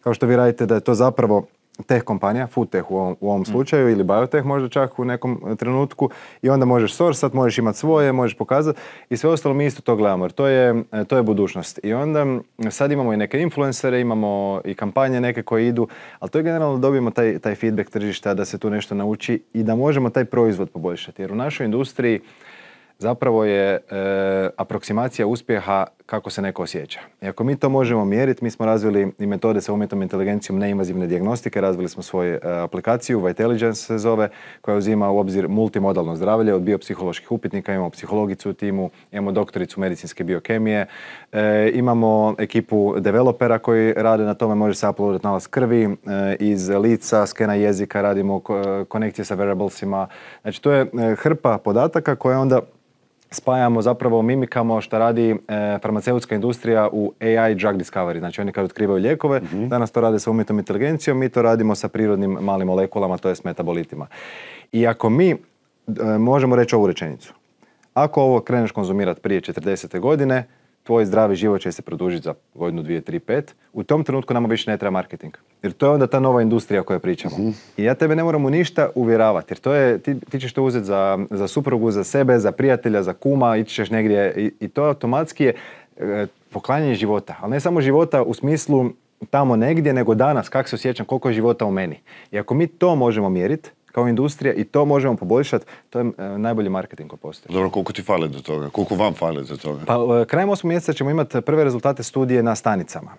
Kao što vi radite da je to zapravo tech kompanija, food tech u ovom slučaju ili biotech možda čak u nekom trenutku i onda možeš sourcat, možeš imati svoje, možeš pokazati i sve ostalo mi isto to gledamo jer to je budućnost. I onda sad imamo i neke influencere, imamo i kampanje neke koje idu, ali to je generalno dobijemo taj feedback tržišta da se tu nešto nauči i da možemo taj proizvod poboljšati. Jer u našoj industriji zapravo je aproksimacija uspjeha kako se neko osjeća. I ako mi to možemo mjeriti, mi smo razvili i metode sa umjetnom inteligencijom neinvazivne dijagnostike, razvili smo svoju aplikaciju, Vitaligence se zove, koja uzima u obzir multimodalno zdravlje od biopsiholoških upitnika, imamo psihologicu u timu, imamo doktoricu medicinske biokemije, imamo ekipu developera koji rade na tome, može se uploadati nalaz krvi, iz lica, skena jezika, radimo konekcije sa wearablesima. Znači to je hrpa podataka koja onda spajamo zapravo mimikamo što radi farmaceutska industrija u AI drug discovery. Znači oni kad otkrivaju lijekove, danas to rade sa umjetnom inteligencijom, mi to radimo sa prirodnim malim molekulama, to je s metabolitima. I ako mi možemo reći ovu rečenicu, ako ovo kreneš konzumirati prije 40. godine, tvoj zdravi život će se produžiti za godinu, 2, 3, 5. U tom trenutku nama više ne treba marketing. Jer to je onda ta nova industrija o kojoj pričamo. I ja tebe ne moram u ništa uvjeravati. Jer to je, ti ćeš to uzeti za suprugu, za sebe, za prijatelja, za kuma, ići ćeš negdje. I to automatski je poklanjanje života. Ali ne samo života u smislu tamo negdje, nego danas, kako se osjećam, koliko je života u meni. I ako mi to možemo mjeriti, kao industrija i to možemo poboljšati, to je najbolji marketing koji postoji. Dobro, koliko ti fali do toga? Koliko vam fali do toga? Pa krajem 8. mjeseca ćemo imati prve rezultate studije na stanicama.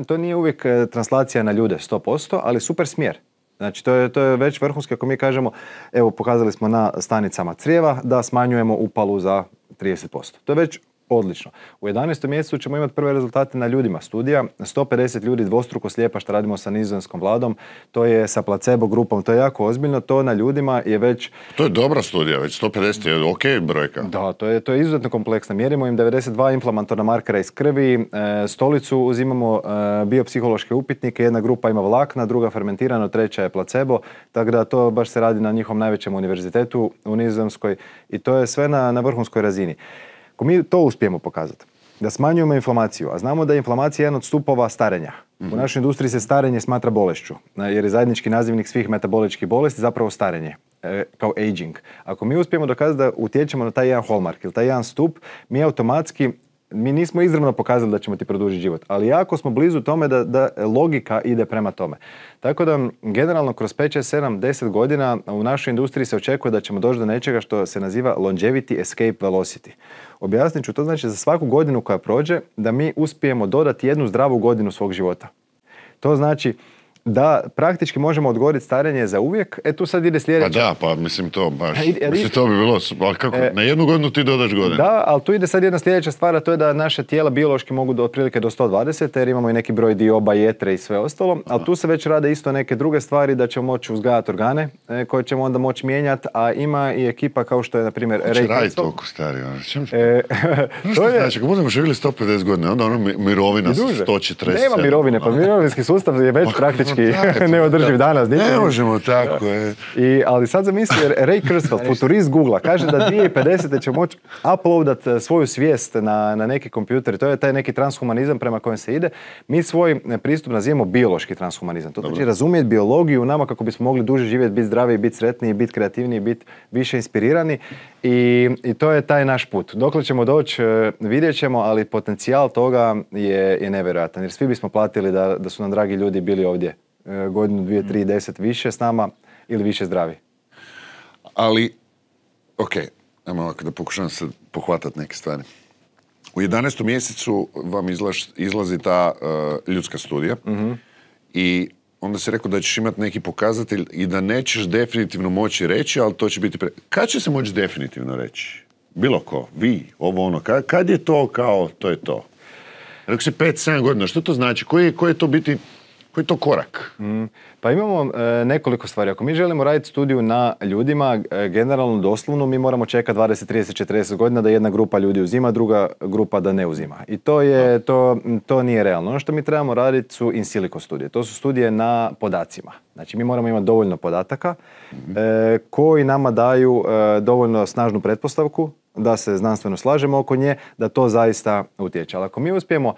To nije uvijek translacija na ljude 100%, ali super smjer. Znači to je već vrhunski ako mi kažemo, evo pokazali smo na stanicama crijeva da smanjujemo upalu za 30%. To je već odlično. U 11. mjesecu ćemo imati prve rezultate na ljudima studija. 150 ljudi dvostruko slijepa što radimo sa nizozemskom vladom. To je sa placebo grupom. To je jako ozbiljno. To na ljudima je već... To je dobra studija, već 150 je ok brojka. Da, to je izuzetno kompleksno. Mjerimo im 92 inflamatorna markera iz krvi, stolicu, uzimamo biopsihološke upitnike. Jedna grupa ima vlakna, druga fermentirano, treća je placebo. Tako da to baš se radi na njihovom najvećem univerzitetu u Nizozemskoj i to je sve na vrhunskoj razini. Ako mi to uspijemo pokazati, da smanjujemo inflamaciju, a znamo da je inflamacija jedan od stupova starenja. U našoj industriji se starenje smatra bolešću, jer je zajednički nazivnik svih metaboličkih bolesti zapravo starenje, kao aging. Ako mi uspijemo dokazati da utječemo na taj jedan hallmark ili taj jedan stup, mi automatski, mi nismo izravno pokazali da ćemo ti produžiti život, ali jako smo blizu tome da logika ide prema tome. Tako da, generalno, kroz 5, 6, 7, 10 godina u našoj industriji se očekuje da ćemo doći do nečega što se naziva longevity escape velocity. Objasnit ću, to znači za svaku godinu koja prođe da mi uspijemo dodati jednu zdravu godinu svog života. To znači da praktički možemo odgoditi starenje za uvijek. Tu sad ide sljedeće. Pa da, pa mislim to baš. Mislim, to bi bilo, ali kako, na jednu godinu ti dodaš godine. Da, ali tu ide sad jedna sljedeća stvar, a to je da naše tijela biološki mogu do otprilike do 120, jer imamo i neki broj dioba, jetre i sve ostalo, ali tu se već rade isto neke druge stvari, da ćemo moći uzgajati organe, koje ćemo onda moći mijenjati, a ima i ekipa kao što je, na primjer, Ray Kurzweil. Radi toliko stari, što znači, ako budemo živjeli 150 godina, onda mirovina su 140. Nema mirovine, pa mirovinski sustav je već praktički neodrživ danas. Ne možemo tako. Ali sad zamisli, Ray Kurzweil, futurist Google-a, kaže da 2050. će moći uploadat svoju svijest na neki kompjuter. To je taj neki transhumanizam prema kojem se ide. Mi svoj pristup nazivamo biološki transhumanizam. To znači razumjeti biologiju u nama kako bismo mogli duže živjeti, biti zdraviji, biti sretniji, biti kreativniji, biti više inspirirani. I to je taj naš put. Dokle ćemo doći, vidjet ćemo, ali potencijal toga je nevjerojatan. Jer svi bismo platili da su nam dragi ljudi bili ovdje godinu, 2, 3, 10 više s nama ili više zdravi. Ali, ajmo ovako da pokušam se pohvatati neke stvari. U 11. mjesecu vam izlazi ta ljudska studija i onda si rekao da ćeš imati neki pokazatelj i da nećeš definitivno moći reći, ali to će biti... Kad će se moći definitivno reći? Bilo ko? Vi? Ovo ono? Kad je to kao to je to? Rekao si 5-7 godina. Što to znači? Koji je to korak? Pa imamo nekoliko stvari. Ako mi želimo raditi studiju na ljudima, generalno doslovno, mi moramo čekati 20, 30, 40 godina da jedna grupa ljudi uzima, druga grupa da ne uzima. I to nije realno. Ono što mi trebamo raditi su in silico studije. To su studije na podacima. Znači mi moramo imati dovoljno podataka koji nama daju dovoljno snažnu pretpostavku da se znanstveno slažemo oko nje, da to zaista utječe. Ali ako mi uspijemo,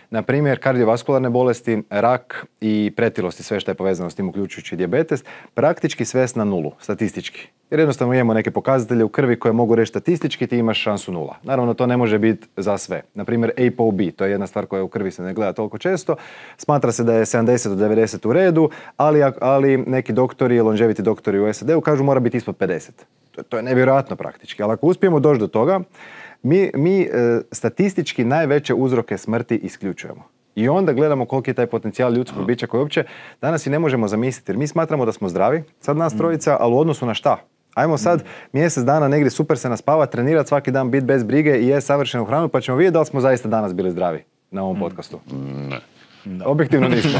na primjer, kardiovaskularne bolesti, rak i pretilost i sve što je povezano s tim, uključujući dijabetes, praktički svest na nulu, statistički. Jer jednostavno imamo neke pokazatelje u krvi koje mogu reći statistički, ti imaš šansu nula. Naravno, to ne može biti za sve. Na primjer, ApoB, to je jedna stvar koja u krvi se ne gleda toliko često. Smatra se da je 70 do 90 u redu, ali neki doktori, longevity doktori u SAD-u kažu mora biti ispod 50. To je nevjerojatno praktički. Ali ako uspijemo doći do toga, mi statistički najveće uzroke smrti isključujemo. I onda gledamo koliki je taj potencijal ljudskog bića koji uopće danas i ne možemo zamisliti. Jer mi smatramo da smo zdravi, sad nas trojica, ali u odnosu na šta? Ajmo sad mjesec dana negdje super se naspava, trenirati svaki dan, biti bez brige i jesti savršenu hranu, pa ćemo vidjeti da li smo zaista danas bili zdravi na ovom podcastu. Ne. Objektivno nismo.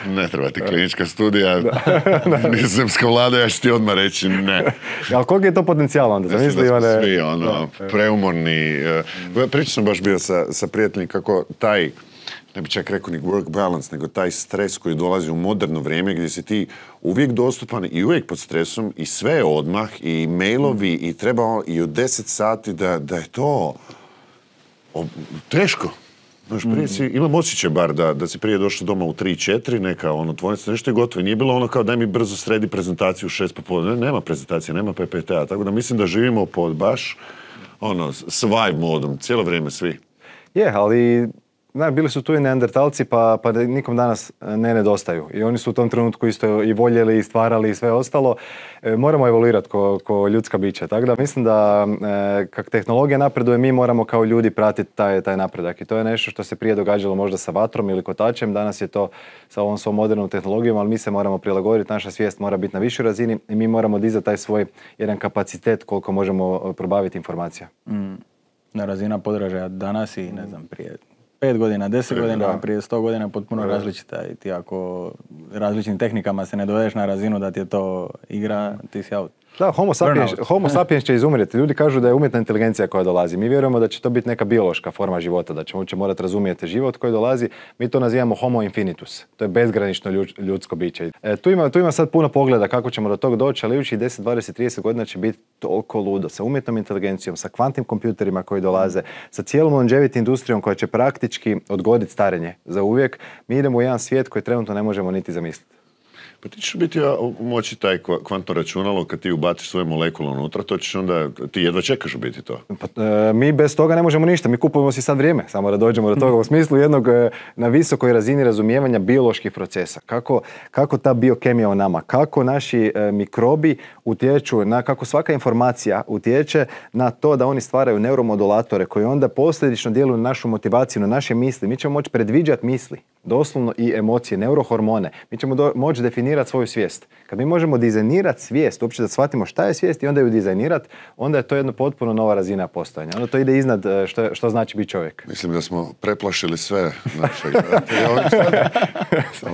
Ne treba ti klinička studija, nizozemska vlada, ja ću ti odmah reći ne. Ali koliko je to potencijal onda? Mislim da smo svi preumorni. Pričao sam baš bio sa prijateljima kako taj, ne bi čak rekao ni work balance, nego taj stres koji dolazi u moderno vrijeme gdje si ti uvijek dostupan i uvijek pod stresom i sve je odmah i mailovi i treba i u 10 sati da je to teško. Znaš, prije imam osjećaj bar da si prije došao doma u 3-4, neka tvornica, nešto je gotovo. Nije bilo ono kao daj mi brzo sredi prezentaciju u 6 popodne. Nema prezentacije, nema PPT-a. Tako da mislim da živimo pod baš s vibe modom, cijelo vrijeme svi. Ali bili su tu i neandertalci pa nikom danas ne nedostaju. I oni su u tom trenutku isto i voljeli i stvarali i sve ostalo. Moramo evoluirati ko ljudska bića. Tako da mislim da kak tehnologija napreduje, mi moramo kao ljudi pratiti taj napredak. I to je nešto što se prije događalo možda sa vatrom ili kotačem. Danas je to sa ovom svom modernom tehnologijom, ali mi se moramo prilagoditi. Naša svijest mora biti na višoj razini i mi moramo dizati taj svoj jedan kapacitet koliko možemo probaviti informacija. Na razina podražaja danas i ne znam prije 5 godina, 10 godina, prije 100 godina potpuno različita i ti ako različitim tehnikama se ne dovedeš na razinu da ti je to igra, ti si out. Da, homo sapiens će izumrijeti. Ljudi kažu da je umjetna inteligencija koja dolazi. Mi vjerujemo da će to biti neka biološka forma života, da ćemo morati razumjeti život koji dolazi. Mi to nazivamo homo infinitus. To je bezgranično ljudsko biće. Tu ima sad puno pogleda kako ćemo do tog doći, ali idućih 10, 20, 30 godina će biti toliko ludo. Sa umjetnom inteligencijom, sa kvantnim kompjuterima koji dolaze, sa cijelom longevity industrijom koja će praktički odgoditi starenje za uvijek. Mi idemo u jedan svijet koji trenutno ne možemo niti zamisliti. Pa ti ćeš biti moći taj kvantno računalo kad ti ubaciš svoje molekule unutra, to ćeš onda, ti jedva čekaš u biti to. Mi bez toga ne možemo ništa, mi kupujemo si sad vrijeme, samo da dođemo do toga u smislu jednog na visokoj razini razumijevanja bioloških procesa. Kako ta biokemija u nama, kako naši mikrobi utječu, kako svaka informacija utječe na to da oni stvaraju neuromodulatore koji onda posljedično djeluju na našu motivaciju, na naše misli. Mi ćemo moći predviđati misli. Doslovno i emocije, neurohormone. Mi ćemo moći definirati svoju svijest. Kad mi možemo dizajnirati svijest, uopće da shvatimo šta je svijest i onda ju dizajnirati, onda je to jedna potpuno nova razina postojanja. Onda to ide iznad što znači biti čovjek. Mislim da smo preplašili sve naše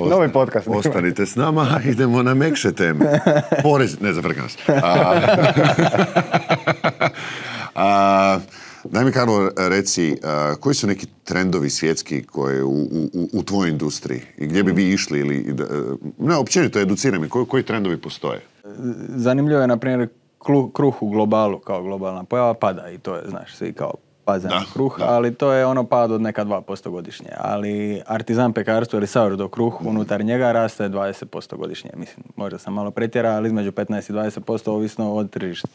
Novi podcast. Ostanite s nama, idemo na mekše teme. Porez, ne zafrka nas. Daj mi, Karlo, reci, koji su neki trendovi svjetski koje u tvojoj industriji i gdje bi vi išli ili, ne, općenito educiraj me, koji trendovi postoje? Zanimljivo je, na primjer, kruh u globalu kao globalna pojava pada i to je, znaš, svi kao paze na kruh, ali to je ono pad od neka 2% godišnje. Ali artizan pekarstvo ili sourdough kruh, unutar njega raste 20% godišnje. Mislim, možda sam malo pretjerao, ali između 15 i 20% ovisno od tržišta.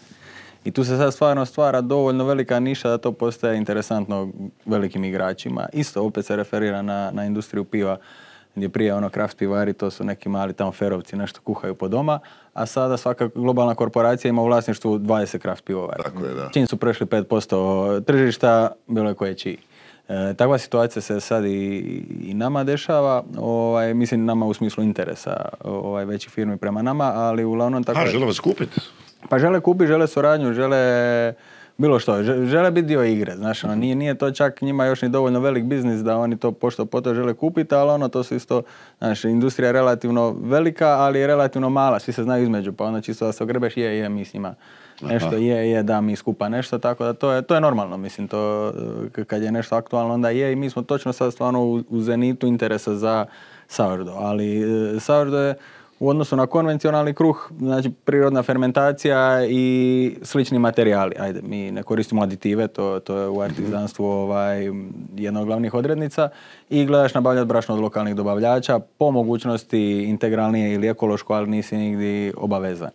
I tu se sad stvarno stvara dovoljno velika niša da to postaje interesantno velikim igračima. Isto opet se referira na industriju piva, gdje prije ono craft pivari, to su neki mali tamo ferovci, nešto kuhaju po doma, a sada svaka globalna korporacija ima u vlasništvu 20 craft pivovari. Tako je, da. Čim su prešli 5% tržišta, bilo je koje čiji. Takva situacija se sad i nama dešava, mislim nama u smislu interesa većih firmi prema nama, ali uglavnom tako... žele vas kupiti? Pa žele kupiti, žele suradnju, žele bilo što, žele biti dio igre, znaš, nije to čak njima još ni dovoljno velik biznis da oni to pošto po to žele kupiti, ali to su isto, znaš, industrija je relativno velika, ali je relativno mala, svi se znaju između, pa onda čisto da se ogrebeš, mi s njima nešto, da mi skupa nešto, tako da to je normalno, mislim, to kad je nešto aktualno, onda je i mi smo točno sad stvarno u zenitu interesa za sourdough, ali sourdough je u odnosu na konvencionalni kruh, znači prirodna fermentacija i slični materijali. Ajde, mi ne koristimo aditive, to je u artizanstvu jedna od glavnih odrednica i gledaš nabavljati brašno od lokalnih dobavljača, po mogućnosti integralnije ili ekološko, ali nisi nigdje obavezan.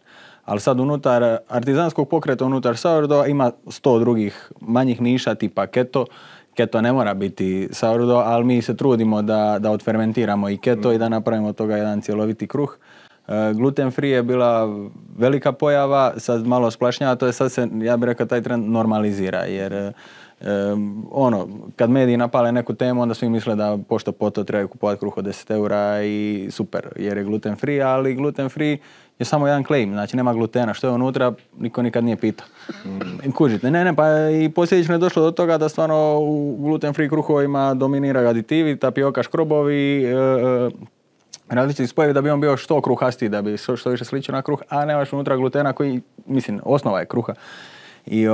Ali sad unutar artizanskog pokreta, unutar sourdough ima 100 drugih manjih niša tipa keto. Keto ne mora biti sourdough, ali mi se trudimo da odfermentiramo i keto i da napravimo od toga jedan cjeloviti kruh. Gluten free je bila velika pojava, sad malo splašnjava, to je sad se, ja bih rekao, taj trend normalizira, jer kad mediji napale neku temu, onda svi misle da pošto po to trebaju kupovati kruh od 10 eura i super, jer je gluten free, ali gluten free je samo jedan claim, znači nema glutena, što je unutra, niko nikad nije pitao. Kužite, pa i posljedično je došlo do toga da stvarno u gluten free kruhovima dominiraju aditivi, tapioka, škrobovi, različiti spojevi da bi on bio što kruhastiji, da bi što više sličio na kruh, a nemaš unutra glutena koji, mislim, osnova je kruha. I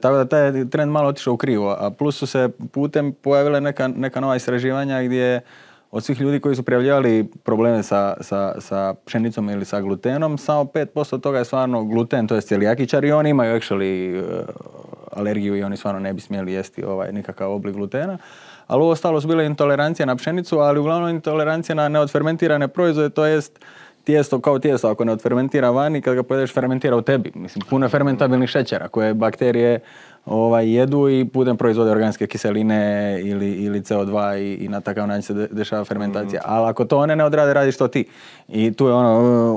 tako da taj trend malo otišao u krivo, a plus su se putem pojavile neka nova istraživanja gdje od svih ljudi koji su prijavljivali probleme sa pšenicom ili sa glutenom, samo 5% toga je stvarno gluten, to je celijakičar i oni imaju actually alergiju i oni stvarno ne bi smjeli jesti nikakav oblik glutena. Ali ovo ostalo su bile intolerancije na pšenicu, ali uglavnom intolerancije na neodfermentirane proizvode, to jest tijesto kao tijesto, ako ne odfermentira vani, kad ga pojedeš fermentira u tebi. Mislim, puno je fermentabilnih šećera koje bakterije jedu i putem proizvode organske kiseline ili CO2 i na takav način se dešava fermentacija. Ali ako to one ne odrade, radiš to ti. I tu je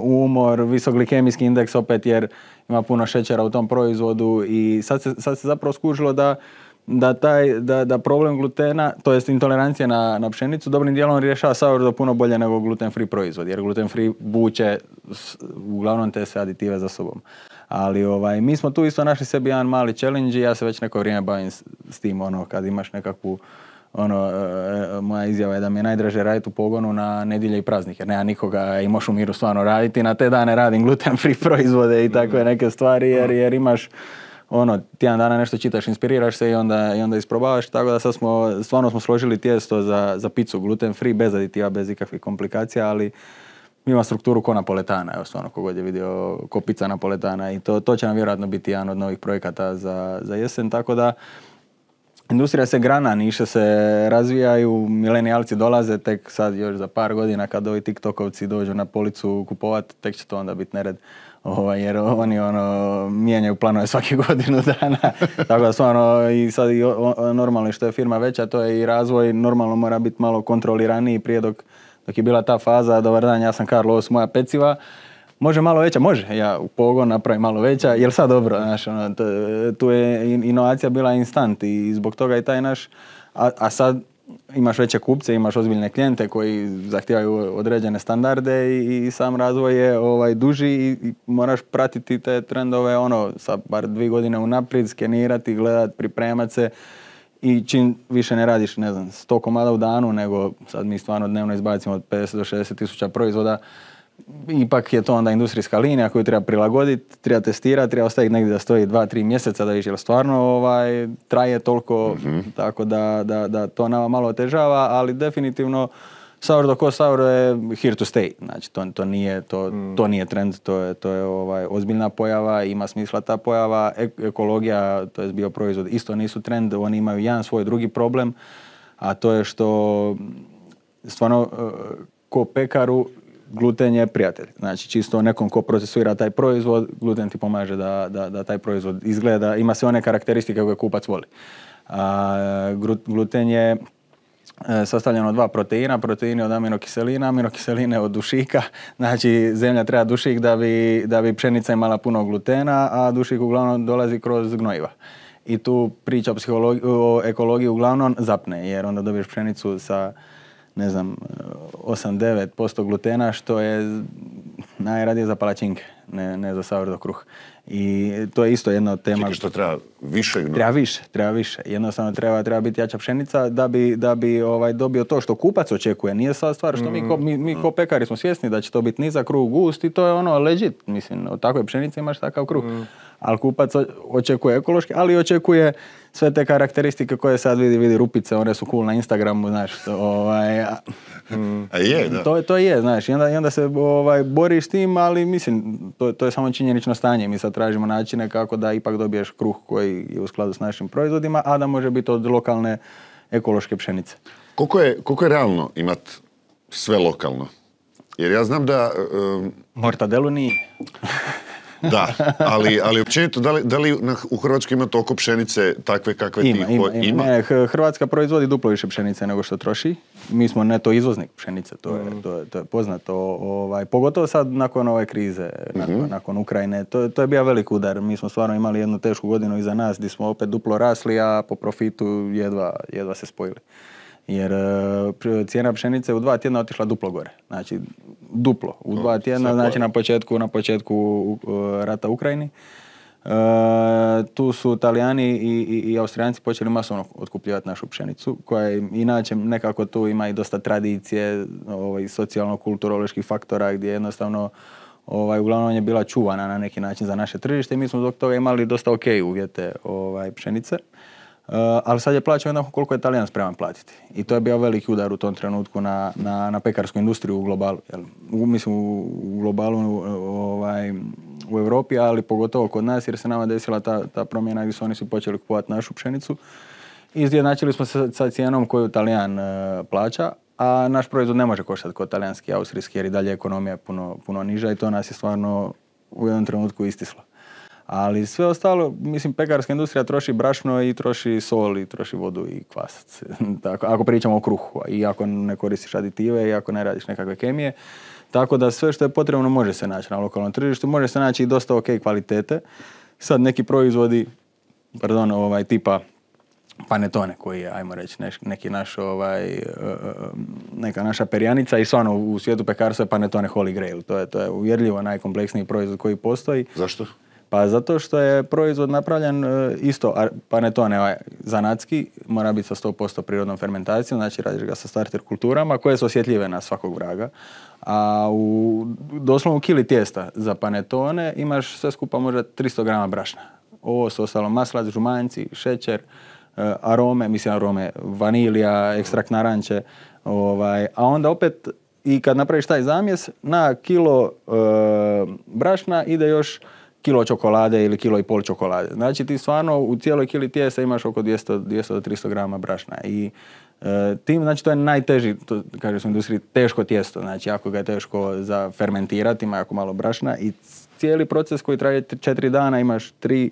umor, visokglikemijski indeks opet jer ima puno šećera u tom proizvodu i sad se zapravo skužilo da problem glutena, to jest intolerancija na pšenicu, dobrim dijelom rješava sourdough puno bolje nego gluten free proizvod, jer gluten free vuče uglavnom te sve aditive za sobom. Ali mi smo tu isto našli sebi jedan mali challenge i ja se već neko vrijeme bavim s tim, kad imaš nekakvu moja izjava je da mi je najdraže raditi u pogonu na nedjelje i praznike, jer nema nikoga i možeš u miru stvarno raditi, na te dane radim gluten free proizvode i takve neke stvari, jer imaš tjedan dana nešto čitaš, inspiriraš se i onda isprobavaš, tako da sad stvarno smo složili tijesto za picu gluten free, bez aditiva, bez ikakvih komplikacija, ali ima strukturu ko napoletana, evo stvarno kogod je vidio ko pizza napoletana i to će nam vjerojatno biti jedan od novih projekata za jesen, tako da industrija se grana, niše se razvijaju, milenijalci dolaze tek sad još za par godina kad ovi tiktokovci dođu na policu kupovati, tek će to onda biti nered. Jer oni mijenjaju planove svake godinu dana, tako da stvarno i sad normalno što je firma veća, to je i razvoj, normalno mora biti malo kontroliraniji prije dok je bila ta faza, dobar dan, ja sam Karlo, ovo su moja peciva, može malo veća, može, ja u pogon napravim malo veća, jel sad dobro, znaš, tu je inovacija bila instant i zbog toga i taj naš, a sad imaš veće kupce, imaš ozbiljne klijente koji zahtijevaju određene standarde i sam razvoj je duži i moraš pratiti te trendove sa bar 2 godine unaprijed, skenirati, gledati, pripremati se i čim više ne radiš, 100 komada u danu, nego sad mi stvarno dnevno izbacimo od 50 do 60 tisuća proizvoda. Ipak je to onda industrijska linija koju treba prilagoditi, treba testirati, treba ostaviti negdje da stoji 2-3 mjeseca da vidiš jel stvarno traje toliko, tako da to nama malo otežava, ali definitivno sourdough ko sourdough je here to stay. Znači to nije trend, to je ozbiljna pojava, ima smisla ta pojava. Ekologija, to je bioproizvod, isto nisu trend, oni imaju jedan svoj drugi problem, a to je što stvarno ko pekaru gluten je prijatelj. Znači, čisto nekom ko procesuira taj proizvod, gluten ti pomaže da taj proizvod izgleda, ima sve one karakteristike koje kupac voli. Gluten je sastavljeno od 2 proteina, proteini od aminokiselina, aminokiseline od dušika. Znači, zemlja treba dušik da bi pšenica imala puno glutena, a dušik uglavnom dolazi kroz gnojiva. I tu priča o ekologiji uglavnom zapne, jer onda dobiješ pšenicu sa 8-9% glutena, što je najradije za palačinke, ne za sourdough kruh. I to je isto jedna od tema. Čekaj, što treba više gnoja? Treba više. Jednostavno treba biti jača pšenica da bi dobio to što kupac očekuje. Nije sad stvar što mi ko pekari smo svjesni da će to biti nizak kruh, gust i to je legit. Mislim, od takve pšenice imaš takav kruh. Ali kupac očekuje ekološki, ali očekuje sve te karakteristike koje sad vidi rupice, one su cool na Instagramu, znaš. A je, da. To je, znaš. I onda se boriš s tim, ali mislim, to je samo činjenično stanje. Mi sad tražimo načine kako da ipak dobiješ kruh koji je u skladu s našim proizvodima, a da može biti od lokalne ekološke pšenice. Koliko je realno imati sve lokalno? Jer ja znam da... Mortadelu nije. Da, ali općenito, da li u Hrvatskoj ima toliko pšenice takve kakve ima? Ne, Hrvatska proizvodi duplo više pšenice nego što troši. Mi smo neto izvoznik pšenice, to je poznato. Pogotovo sad nakon ove krize, nakon Ukrajine. To je bio velik udar. Mi smo stvarno imali jednu tešku godinu iza nas gdje smo opet duplo rasli, a po profitu jedva se spojili. Jer cijena pšenice u 2 tjedna otišla duplo gore. Znači, duplo. U 2 tjedna, znači na početku rata u Ukrajini. Tu su Talijani i Austrijanci počeli masovno otkupljivati našu pšenicu, koja je inače nekako tu ima i dosta tradicije, socijalno-kulturoloških faktora, gdje jednostavno uglavnom je bila čuvana na neki način za naše tržište i mi smo zbog toga imali dosta ok uvjete pšenice. Ali sad je plaćao jednako koliko je Talijan spreman platiti. I to je bio veliki udar u tom trenutku na pekarsku industriju u globalu. Mislim u globalu u Europi, ali pogotovo kod nas jer se nama desila ta promjena gdje su oni počeli kupovati našu pšenicu. I izjednačili smo se sa cijenom koju Talijan plaća, a naš proizvod ne može koštati kod talijanski i austrijski jer i dalje ekonomija je puno niža i to nas je stvarno u jednom trenutku istislo. Ali sve ostalo, mislim, pekarska industrija troši brašno i troši sol i troši vodu i kvasac. Tako, ako pričamo o kruhu i ako ne koristiš aditive i ako ne radiš nekakve kemije. Tako da sve što je potrebno može se naći na lokalnom tržištu, može se naći i dosta ok kvalitete. Sad neki proizvodi, tipa panetone koji je, ajmo reći, neki naš, neka naša perjanica i stvarno u svijetu pekarstva je panetone holy grail. To je uvjerljivo najkompleksniji proizvod koji postoji. Zašto? Pa zato što je proizvod napravljen isto, panetone zanatski, mora biti sa 100% prirodnom fermentacijom, znači radiš ga sa starter kulturama koje su osjetljive na svakog vraga. A doslovno u kili tijesta za panetone imaš sve skupa možda 300 grama brašna. Ovo su ostalo maslac, žumanjci, šećer, arome, vanilija, ekstrakt naranče. A onda opet, i kad napraviš taj zamjes, na kilo brašna ide još kilo čokolade ili kilo i pol čokolade. Znači ti stvarno u cijeloj kili tijesta imaš oko 200 do 300 grama brašna. I tim, znači to je najteži, to kaže se u industriji, teško tijesto. Znači jako ga je teško za fermentirati, ima jako malo brašna i cijeli proces koji traje 4 dana imaš 3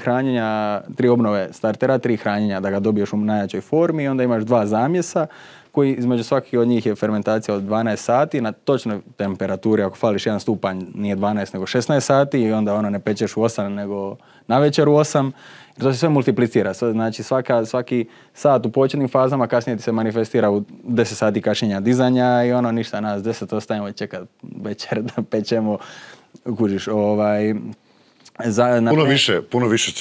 hranjenja, 3 obnove startera, 3 hranjenja da ga dobiješ u najjačoj formi i onda imaš 2 zamjesa koji između svakih od njih je fermentacija od 12 sati na točnoj temperaturi, ako fališ 1 stupanj nije 12 nego 16 sati i onda ne pečeš u 8 nego na večer u 8. To se sve multiplicira, znači svaki sat u početnim fazama kasnije ti se manifestira u 10 sati kašnjenja dizanja i ništa, nas 10 ostavimo čekati večer da pečemo, kužiš, Puno više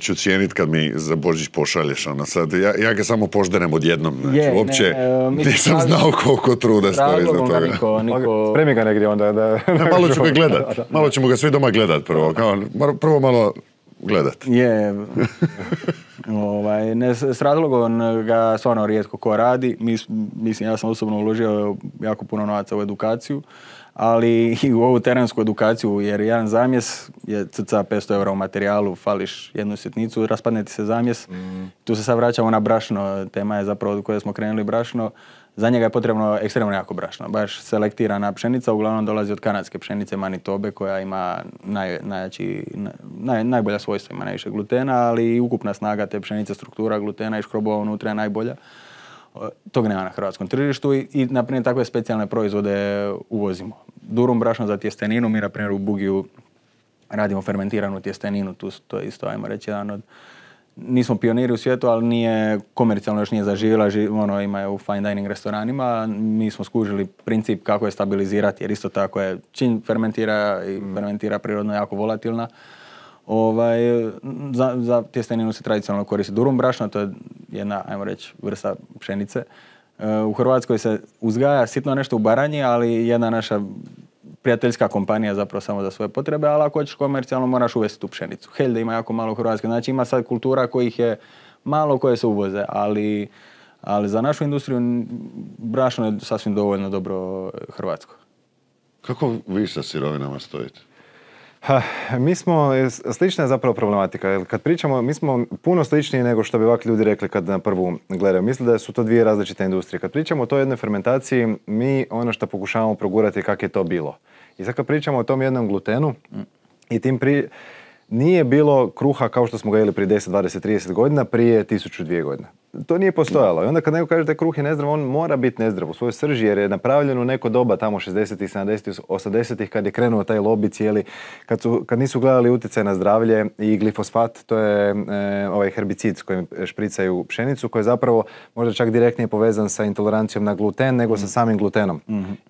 ću cijeniti kad mi za Božić pošalješ, sad. Ja ga samo požderem odjednom, znači uopće nisam znao koliko truda stoji za toga. Spremi ga negdje onda. Malo ću ga gledat, malo ćemo ga svi doma gledat prvo, prvo malo gledat. S razlogom ga stvarno rijetko ko radi, mislim ja sam osobno uložio jako puno novaca u edukaciju, ali i u ovu terensku edukaciju, jer jedan zamjes je cca 500 € u materijalu, fališ jednu sitnicu, raspadne ti se zamjes. Tu se sad vraćamo na brašno, tema je zapravo od koje smo krenuli brašno. Za njega je potrebno ekstremno jako brašno, baš selektirana pšenica, uglavnom dolazi od kanadske pšenice Manitobe koja ima najbolja svojstva, ima najviše glutena, ali i ukupna snaga te pšenice, struktura glutena i škrobova unutra je najbolja. Tog nema na hrvatskom tržištu i na primjer takve specijalne proizvode uvozimo. Durum brašno za tjesteninu, mi na primjer u Bugiju radimo fermentiranu tjesteninu, to je isto, ajmo reći, jedan od... Nismo pioniri u svijetu, ali nije komercijalno još nije zaživjela, ima je u fine dining restoranima. Mi smo skužili princip kako je stabilizirati, jer isto tako je čim fermentira prirodno jako volatilna. Za tjesteninu se tradicionalno koristi durum brašno, to je jedna, ajmo reći, vrsta pšenice. U Hrvatskoj se uzgaja sitno nešto u Baranji, ali jedna naša prijateljska kompanija zapravo samo za svoje potrebe, ali ako hoćeš komercijalno moraš uvesti tu pšenicu. Helde ima jako malo u Hrvatskoj, znači ima sad kultura kojih je malo koje se uvoze, ali za našu industriju brašno je sasvim dovoljno dobro hrvatsko. Kako vi sa sirovinama stojite? Mi smo, slična je zapravo problematika, jer kad pričamo, mi smo puno sličniji nego što bi ovakvi ljudi rekli kad na prvu gledaju. Mislim da su to dvije različite industrije. Kad pričamo o toj jednoj fermentaciji, mi ono što pokušavamo progurati kako je to bilo. I sad kad pričamo o tom jednom glutenu, i nije bilo kruha kao što smo ga jeli prije 10, 20, 30 godina, prije 1002 godina. To nije postojalo. I onda kad neko kaže da je kruh je nezdrav, on mora biti nezdrav u svojoj srži, jer je napravljen u neko doba, tamo 60-ih, 70-ih, 80-ih, kad je krenuo taj lobby cijeli, kad nisu gledali utjecaj na zdravlje i glifosfat, to je ovaj herbicid s kojim špricaju pšenicu, koji je zapravo možda čak direktnije povezan sa intolerancijom na gluten nego sa samim glutenom.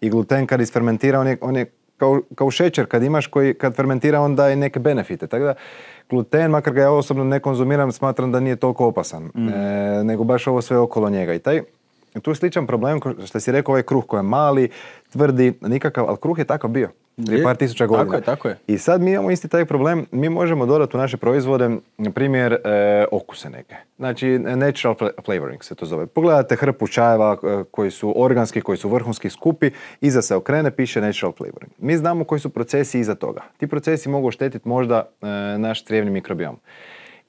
I gluten kad isfermentira, on je kao šećer kad imaš koji kad fermentira on daje neke benefite. Tako da gluten, makar ga ja osobno ne konzumiram, smatram da nije toliko opasan, nego baš ovo sve okolo njega. I tu je sličan problem, što si rekao, ovaj kruh koji je mali, tvrdi, nikakav, ali kruh je takav bio prije par tisuća godina. Tako je. I sad mi imamo isti taj problem, mi možemo dodati u naše proizvode, na primjer, okuse neke. Znači, natural flavoring se to zove. Pogledate hrpu čajeva koji su organski, koji su vrhunski skupi, iza se okrene, piše natural flavoring. Mi znamo koji su procesi iza toga. Ti procesi mogu oštetiti možda naš crijevni mikrobiom.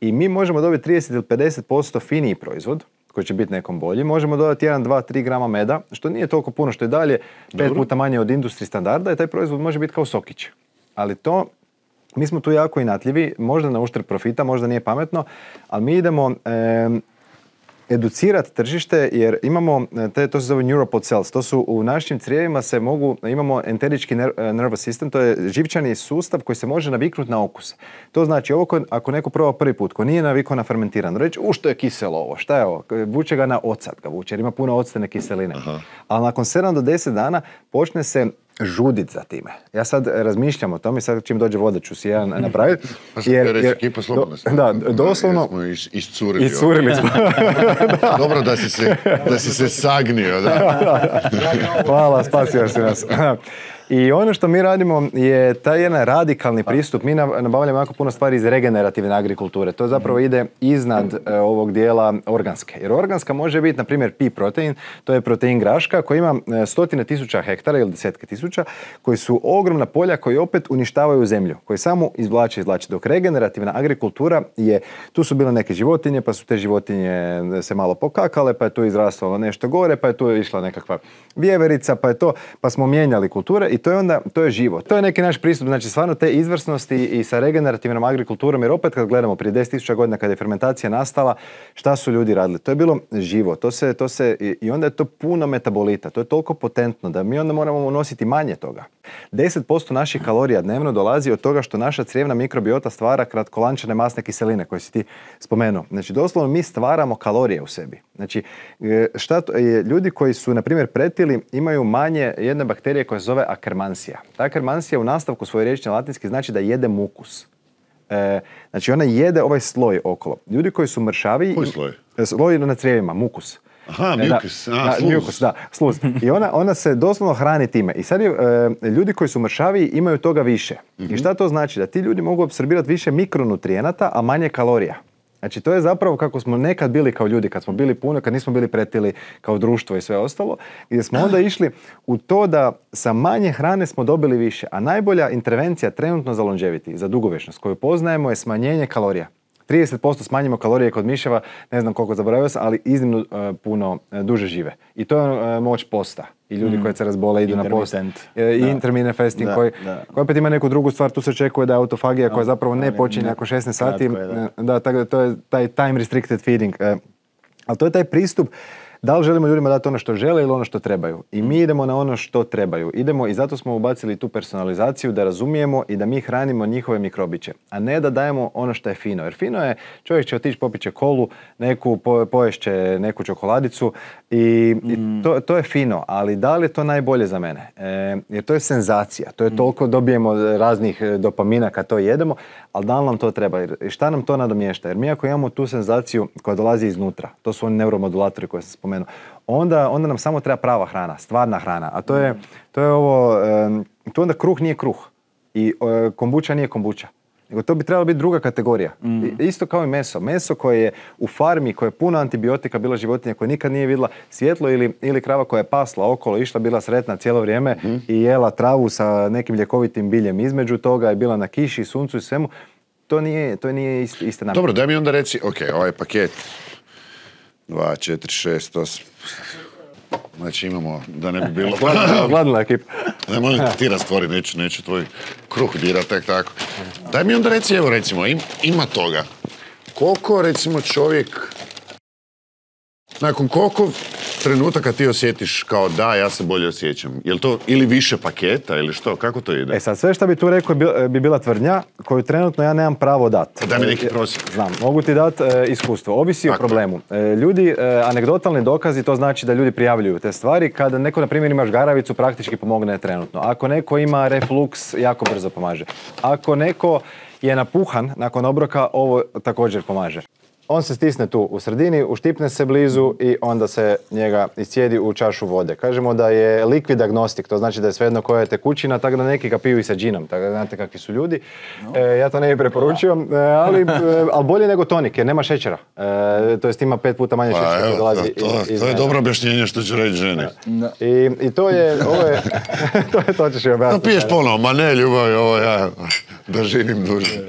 I mi možemo dobiti 30 ili 50% finiji proizvod, koji će biti nekom bolji. Možemo dodati 1, 2, 3 grama meda, što nije toliko puno, što je dalje 5 puta manje od industri standarda i taj proizvod može biti kao sokić. Ali mi smo tu jako inatljivi, možda na uštrb profita, možda nije pametno, ali mi idemo educirati tržište jer imamo, to se zove neuropod cells, to su u našim crijevima imamo enterički nervous system, to je živčani sustav koji se može naviknuti na okus. To znači ako neko proba prvi put, ko nije navikao na fermentirano, reći što je kiselo ovo, šta je ovo, vuče ga na ocat ga vuče jer ima puno octene kiseline. Aha. Ali nakon 7 do 10 dana počne se žudit za time. Ja sad razmišljam o tome, sad čim dođe voda ću si jedan napraviti. Da, doslovno... Iscurili smo. Dobro da si se sagnio. Da. Hvala, spasio si nas. I ono što mi radimo je taj jedan radikalni pristup. Mi nabavljamo jako puno stvari iz regenerativne agrikulture. To zapravo ide iznad ovog dijela organske. Jer organska može biti, na primjer, pea protein, to je protein graška koji ima 100.000 hektara ili 10.000, koji su ogromna polja koji opet uništavaju zemlju, koji samo izvlače. Dok regenerativna agrikultura tu su bile neke životinje, pa su te životinje se malo pokakale, pa je tu izrastalo nešto gore, pa je tu išla nekakva vjeverica, pa smo mijenjali kulture. I to je živo. To je neki naš pristup, znači stvarno te izvrsnosti i sa regenerativnom agrikulturom, jer opet kad gledamo prije 10.000 godina kada je fermentacija nastala, šta su ljudi radili? To je bilo živo, i onda je to puno metabolita, to je toliko potentno da mi onda moramo unositi manje toga. 10% naših kalorija dnevno dolazi od toga što naša crijevna mikrobiota stvara kratkolančane masne kiseline koje si ti spomenuo. Znači doslovno mi stvaramo kalorije u sebi. Znači ljudi koji su na primjer pretili imaju manje jedne bakterije koja se zove Akkermansia. Ta Akkermansia u nastavku svoje riječi na latinski znači da jede mukus. Znači ona jede ovaj sloj okolo. Ljudi koji su mršaviji... Koji sloj? Sloj na crijevima, mukus. Aha, mukus. Mukus, da, sluz. I ona se doslovno hrani time. I sad ljudi koji su mršaviji imaju toga više. I šta to znači? Da ti ljudi mogu apsorbirati više mikronutrijenata, a manje kalorija. Znači to je zapravo kako smo nekad bili kao ljudi, kad smo bili puno, kad nismo bili pretili kao društvo i sve ostalo, gdje smo onda išli u to da sa manje hrane smo dobili više. A najbolja intervencija trenutno za longevity, za dugovječnost koju poznajemo je smanjenje kalorija. 30% smanjimo kalorije kod miševa, ne znam koliko zaboravio sam, ali iznimno puno duže žive. I to je moć posta. I ljudi koji se razbole idu na post. I intermittent fasting koji opet ima neku drugu stvar, tu se očekuje da je autofagija koja zapravo ne počinje ako 16 sati. Da, tako da to je taj time restricted feeding. Ali to je taj pristup da li želimo ljudima dati ono što žele ili ono što trebaju. I mi idemo na ono što trebaju. Idemo i zato smo ubacili tu personalizaciju da razumijemo i da mi hranimo njihove mikrobiće. A ne da dajemo ono što je fino. Jer fino je, čovjek će otići popit će kolu, poješće neku čokoladicu i to je fino. Ali da li je to najbolje za mene? Jer to je senzacija. To je toliko, dobijemo raznih dopamina kad to jedemo, ali da li nam to treba? I šta nam to nadomješta? Jer mi ako imamo tu senzaciju koja dolazi iznutra, to su oni neuromodulatori koje sam spomenuo, onda nam samo treba prava hrana, stvarna hrana. A to je ovo, tu onda kruh nije kruh i kombuča nije kombuča. Nego to bi trebala biti druga kategorija. Isto kao i meso. Meso koje je u farmi, koje je puno antibiotika, bila životinja koja nikad nije vidjela svjetlo ili krava koja je pasla okolo, išla, bila sretna cijelo vrijeme i jela travu sa nekim ljekovitim biljem između toga, je bila na kiši, suncu i svemu. To nije ista namjera. Dobro, daj mi onda reci, ok, ovaj paket 2, 4, 6, 8. Znači imamo, da ne bi bilo... Gladila ekipa. Ne, molim ti rastvori, neću tvoj kruh dirat, tek tako. Daj mi onda reci, evo recimo, ima toga. Koliko recimo čovjek... Nakon koliko trenutaka ti osjetiš kao da, ja se bolje osjećam? Je li to ili više paketa ili što? Kako to ide? Sad, sve što bi tu rekao bi bila tvrdnja koju trenutno ja nemam pravo dati. Daj mi neki prosjek. Znam, mogu ti dati iskustvo. Ovisi o problemu. Ljudi, anegdotalni dokazi, to znači da ljudi prijavljuju te stvari. Kada neko, na primjer, ima žgaravicu, praktički pomogne trenutno. Ako neko ima refluks, jako brzo pomaže. Ako neko je napuhan nakon obroka, ovo također pomaže. On se stisne tu u sredini, uštipne se blizu i onda se njega iscijedi u čašu vode. Kažemo da je liquid agnostik, to znači da je svejedno koja je tekućina, tako da neki ga piju i sa džinom, tako da znate kakvi su ljudi. Ja to ne bih preporučio, ali bolje nego tonik jer nema šećera. To jest ima 5 puta manje šećera. To je dobro objašnjenje što ću reći ženi. I to je, to ćeš i objasniti. Da piješ ponovo, ma ne ljubavi, ovo ja da živim duže.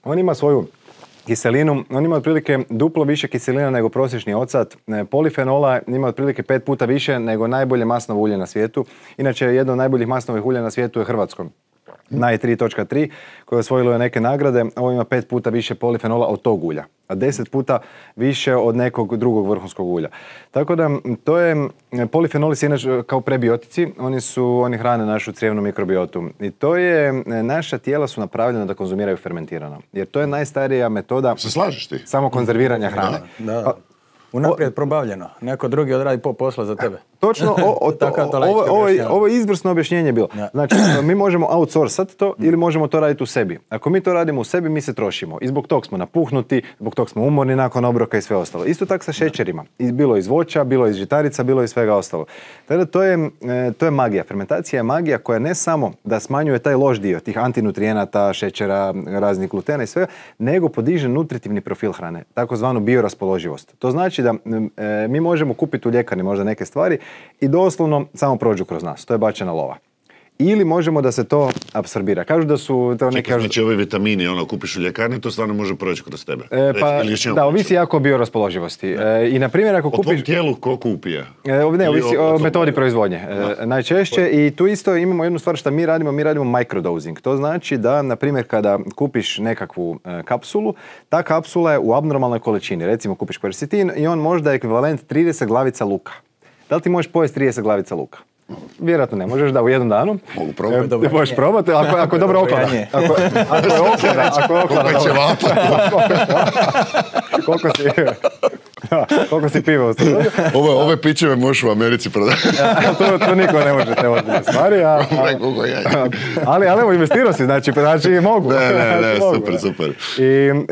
On ima svoju kiselinu, on ima otprilike duplo više kiselina nego prosječni ocat. Polifenola ima otprilike 5 puta više nego najbolje masnovo ulje na svijetu. Inače, jedno od najboljih masnovih ulja na svijetu je hrvatsko. Naj 3.3 koje je osvojilo neke nagrade, ovo ima 5 puta više polifenola od tog ulja, a 10 puta više od nekog drugog vrhunskog ulja. Tako da to je, polifenoli su inače kao prebiotici, oni hrane našu crijevnu mikrobiotu. I to je, naša tijela su napravljena da konzumiraju fermentirano. Jer to je najstarija metoda. Se slažeš ti? Samo konzerviranja hrane. Da. Unaprijed probavljeno. Neko drugi odradi posla za tebe. Točno, ovo je izvrsno objašnjenje bilo. Znači, mi možemo outsourcat to ili možemo to raditi u sebi. Ako mi to radimo u sebi, mi se trošimo. I zbog tog smo napuhnuti, zbog tog smo umorni nakon obroka i sve ostalo. Isto tako sa šećerima. Bilo iz voća, bilo iz žitarica, bilo iz svega ostalo. Tada to je magija. Fermentacija je magija koja ne samo da smanjuje taj loš dio, tih antinutrijenata, šećera, raznih glutena i svega, nego podiže nutritivni profil hrane, takozvanu bioraspoloživost. To znači da mi možemo kupiti u ljekarni možda neke stvari i doslovno samo prođu kroz nas. To je bačena lova. ili možemo da se to apsorbira. Kažu da su to neki... Znači ovi vitamini, kupiš u ljekarni, to stvarno može proći kroz tebe. Da, ovisi jako o bioraspoloživosti. I na primjer ako kupiš... O tom tijelu ko kupije? Ne, ovisi o metodi proizvodnje. Najčešće i tu isto imamo jednu stvar što mi radimo microdosing. To znači da, na primjer, kada kupiš nekakvu kapsulu, ta kapsula je u abnormalnoj količini. Recimo kupiš quercetin i on možda je ekvivalent 30 glavica luka. Da li ti možeš pojesti 30 glavica luka? Vjerojatno ne možeš, da, u jednom danu. Mogu probati. Možeš probati, ako je dobro oklada. Ako je oklada. Koliko si piva ustavio? Ove pićeve možeš u Americi prodati. To niko ne može te ozbiljne stvari. Ali evo, investirao si, znači mogu. Ne, super.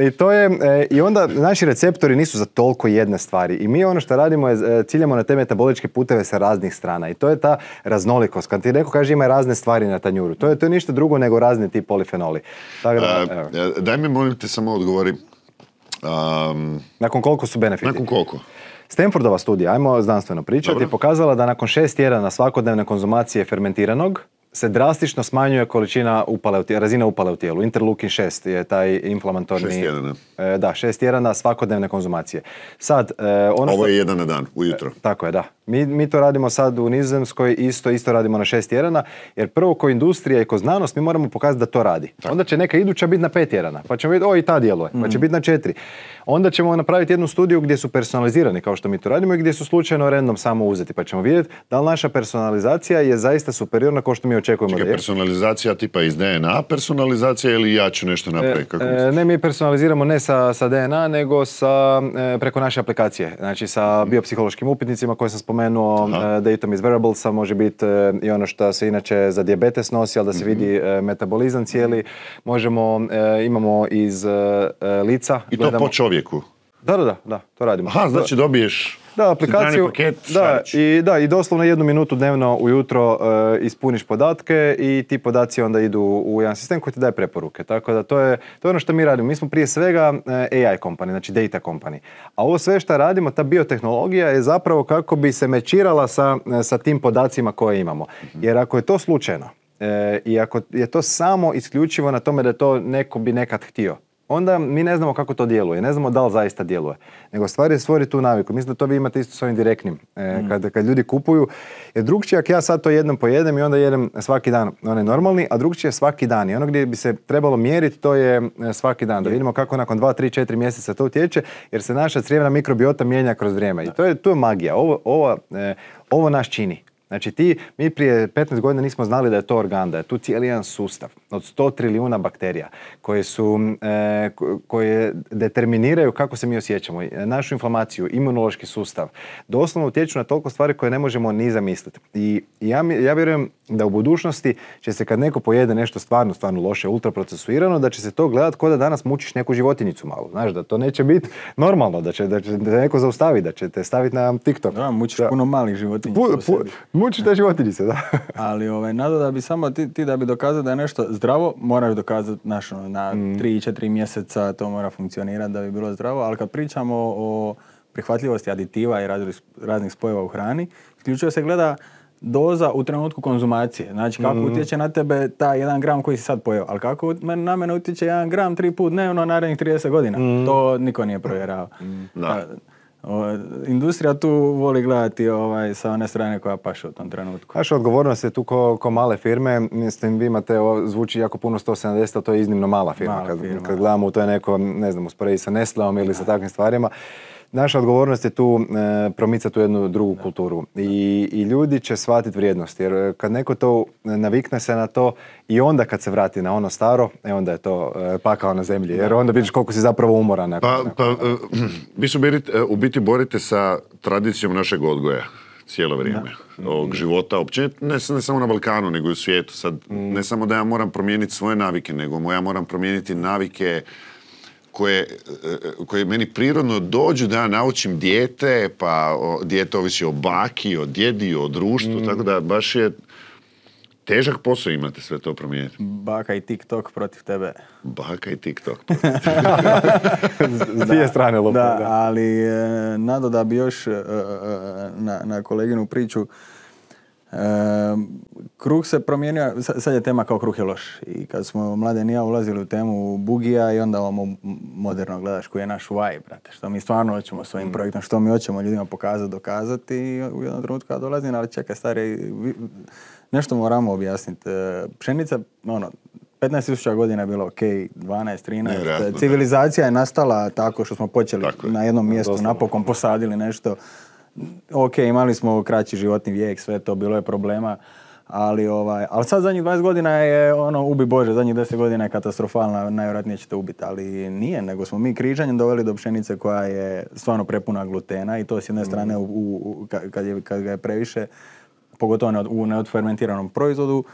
I to je, i onda naši receptori nisu za toliko jedne stvari. I mi ono što radimo je, ciljamo na te metaboličke puteve sa raznih strana. I to je ta raznolikost. Kad ti neko kaže ima razne stvari na tanjuru, to je ništa drugo nego razni ti polifenoli. Daj mi, molim te, samo odgovori. Nakon koliko su benefiti? Nakon koliko? Stanfordova studija, ajmo znanstveno pričati, je pokazala da nakon 6 tjedana svakodnevne konzumacije fermentiranog se drastično smanjuje količina razina upale u tijelu. Interleukin 6 je taj inflamatorni... 6 tjedana. Da, 6 tjedana svakodnevne konzumacije. Sad, ovo je jedan na dan, ujutro. Tako je, da. Mi to radimo sad u Nizozemskoj, isto radimo na 6 tjedana, jer prvo ko industrija i ko znanost mi moramo pokazati da to radi. Tako. Onda će neka iduća biti na 5 tjedana, pa ćemo vidjeti, i ta djeluje, pa će biti na 4. Onda ćemo napraviti jednu studiju gdje su personalizirani, kao što mi to radimo, i gdje su slučajno random samo uzeti, pa ćemo vidjeti da li naša personalizacija je zaista superiorna kao što mi očekujemo. Čekaj, personalizacija tipa iz DNA personalizacija ili ja ću nešto napraviti? Ne, mi personaliziramo ne sa DNA, nego preko naše aplikacije. Znači sa biopsihološkim upitnicima koje sam spomenuo, Datum iz Wearablesa, može biti i ono što se inače za dijabetes nosi, ali da se vidi metabolizam cijeli. Imamo iz lica. I to po čovjeku? Da, to radimo. Aha, znači dobiješ... Da, aplikaciju, i doslovno 1 minutu dnevno ujutro ispuniš podatke i ti podaci onda idu u jedan sistem koji ti daje preporuke. Tako da to je ono što mi radimo. Mi smo prije svega AI company, znači data company. A ovo sve što radimo, ta biotehnologija je zapravo kako bi se mečirala sa tim podacima koje imamo. Jer ako je to slučajno i ako je to samo isključivo na tome da to neko bi nekad htio, onda mi ne znamo kako to djeluje, ne znamo da li zaista djeluje. Nego stvar je stvoriti tu naviku. Mislim da to vi imate isto s ovim direktnim. Kad ljudi kupuju, jer drugčije ako ja sad to jednom pojedem i onda jedem svaki dan, onaj normalni, a drugčije je svaki dan. I ono gdje bi se trebalo mjeriti, to je svaki dan. Da vidimo kako nakon 2, 3, 4 mjeseca to utječe, jer se naša crijevna mikrobiota mijenja kroz vrijeme. I to je magija. Ovo nas čini. Znači mi prije 15 godina nismo znali da je to organ, da je tu cijeli jedan sustav od 100 trilijuna bakterija koje determiniraju kako se mi osjećamo, našu inflamaciju, imunološki sustav. Doslovno utječu na toliko stvari koje ne možemo ni zamisliti. I ja vjerujem da u budućnosti će se kad neko pojede nešto stvarno loše, ultraprocesuirano, da će se to gledati kao da danas mučiš neku životinjicu malo. Znaš, da to neće biti normalno, da će te neko zaustaviti, da će te staviti na TikTok. Da, mučiš puno malih životinjica. Muči te životinjice, da. Ali nado da bi samo ti da bi dokazao da je nešto zdravo, moraš dokazati na 3-4 mjeseca to mora funkcionirati da bi bilo zdravo, ali kad pričamo o prihvatljivosti aditiva i raznih spojeva u hrani, isključivo se gleda doza u trenutku konzumacije. Znači kako utječe na tebe taj 1 gram koji si sad pojeo, ali kako na mene utječe 1 gram 3 put dnevno narednih 30 godina. To niko nije provjerao. Industrija tu voli gledati sa one strane koja paše u tom trenutku. Naša odgovornost je tu ko male firme. Mislim, vi imate, zvuči jako puno 170, a to je iznimno mala firma. Kad gledamo, to je neko, ne znam, usporedi sa Nestleom ili sa takvim stvarima. Naša odgovornost je tu promicati tu jednu drugu kulturu i ljudi će shvatiti vrijednost, jer kad neko to navikne se na to i onda kad se vrati na ono staro, onda je to pakao na zemlji, jer onda vidiš koliko si zapravo umoran. Vi su u biti borite sa tradicijom našeg odgoja cijelo vrijeme, ovog života općenito, ne samo na Balkanu, nego i u svijetu. Sad, ne samo da ja moram promijeniti svoje navike, nego ja moram promijeniti navike koje meni prirodno dođu da ja naučim dijete, pa dijete ovisi o baki, o djedi, o društvu, tako da baš je težak posao imate sve to promijeniti. Baka i TikTok protiv tebe. Baka i TikTok. S dvije strane lopte. Da, ali nado da bi još na koleginu priču Kruh se promijenio, sad je tema kao kruh je loš. I kad smo Mladen i ja ulazili u temu bugija i onda ovamo moderno gledaš koji je naš why, brate. Što mi stvarno hoćemo svojim projektom, što mi hoćemo ljudima pokazati, dokazati. I u jednom trenutku kad dolazim, ali čekaj stari, nešto moramo objasniti. Pšenica, 15.000 godina je bilo ok, 12, 13. Civilizacija je nastala tako što smo počeli na jednom mjestu, napokon posadili nešto. Ok, imali smo kraći životni vijek, sve to, bilo je problema, ali sad zadnjih 20 godina je ubi Bože, zadnjih 10 godina je katastrofalna, najvjerojatnije ćete ubiti, ali nije, nego smo mi križanjem doveli do pšenice koja je stvarno prepuna glutena i to s jedne strane kad ga je previše, pogotovo u neodfermentiranom proizvodu.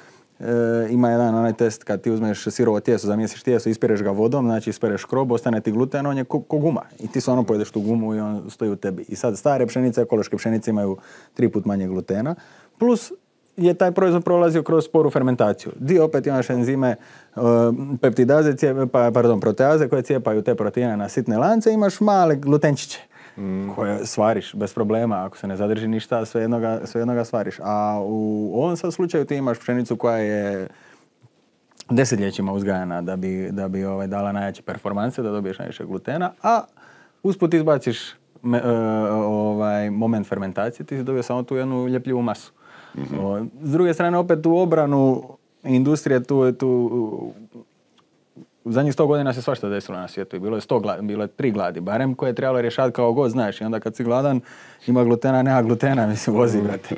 Ima jedan onaj test kad ti uzmeš sirovo tijesto, zamijesiš tijesto, ispireš ga vodom, znači ispereš škrob, ostane ti gluten, on je ko guma. I ti stvarno pojedeš tu gumu i on stoji u tebi. I sad stare pšenice, ekološke pšenice imaju 3 puta manje glutena, plus je taj proizvod prolazio kroz sporu fermentaciju. Dio opet imaš enzime peptidaze, proteaze koje cijepaju te proteine na sitne lance, imaš male glutenčiće koje svariš bez problema, ako se ne zadrži ništa, svejedno ga svariš. A u ovom sad slučaju ti imaš pšenicu koja je desetljećima uzgajana da bi dala najjače performanse, da dobiješ najviše glutena, a usput izbaciš moment fermentacije, ti si dobio samo tu jednu ljepljivu masu. S druge strane, opet u obranu industrije tu u zadnjih 100 godina se svašta desilo na svijetu i bilo je 3 gladi, barem koje je trebalo rješavati kao god, znaš. I onda kad si gladan, ima glutena, nema glutena, mislim, vozi, brate.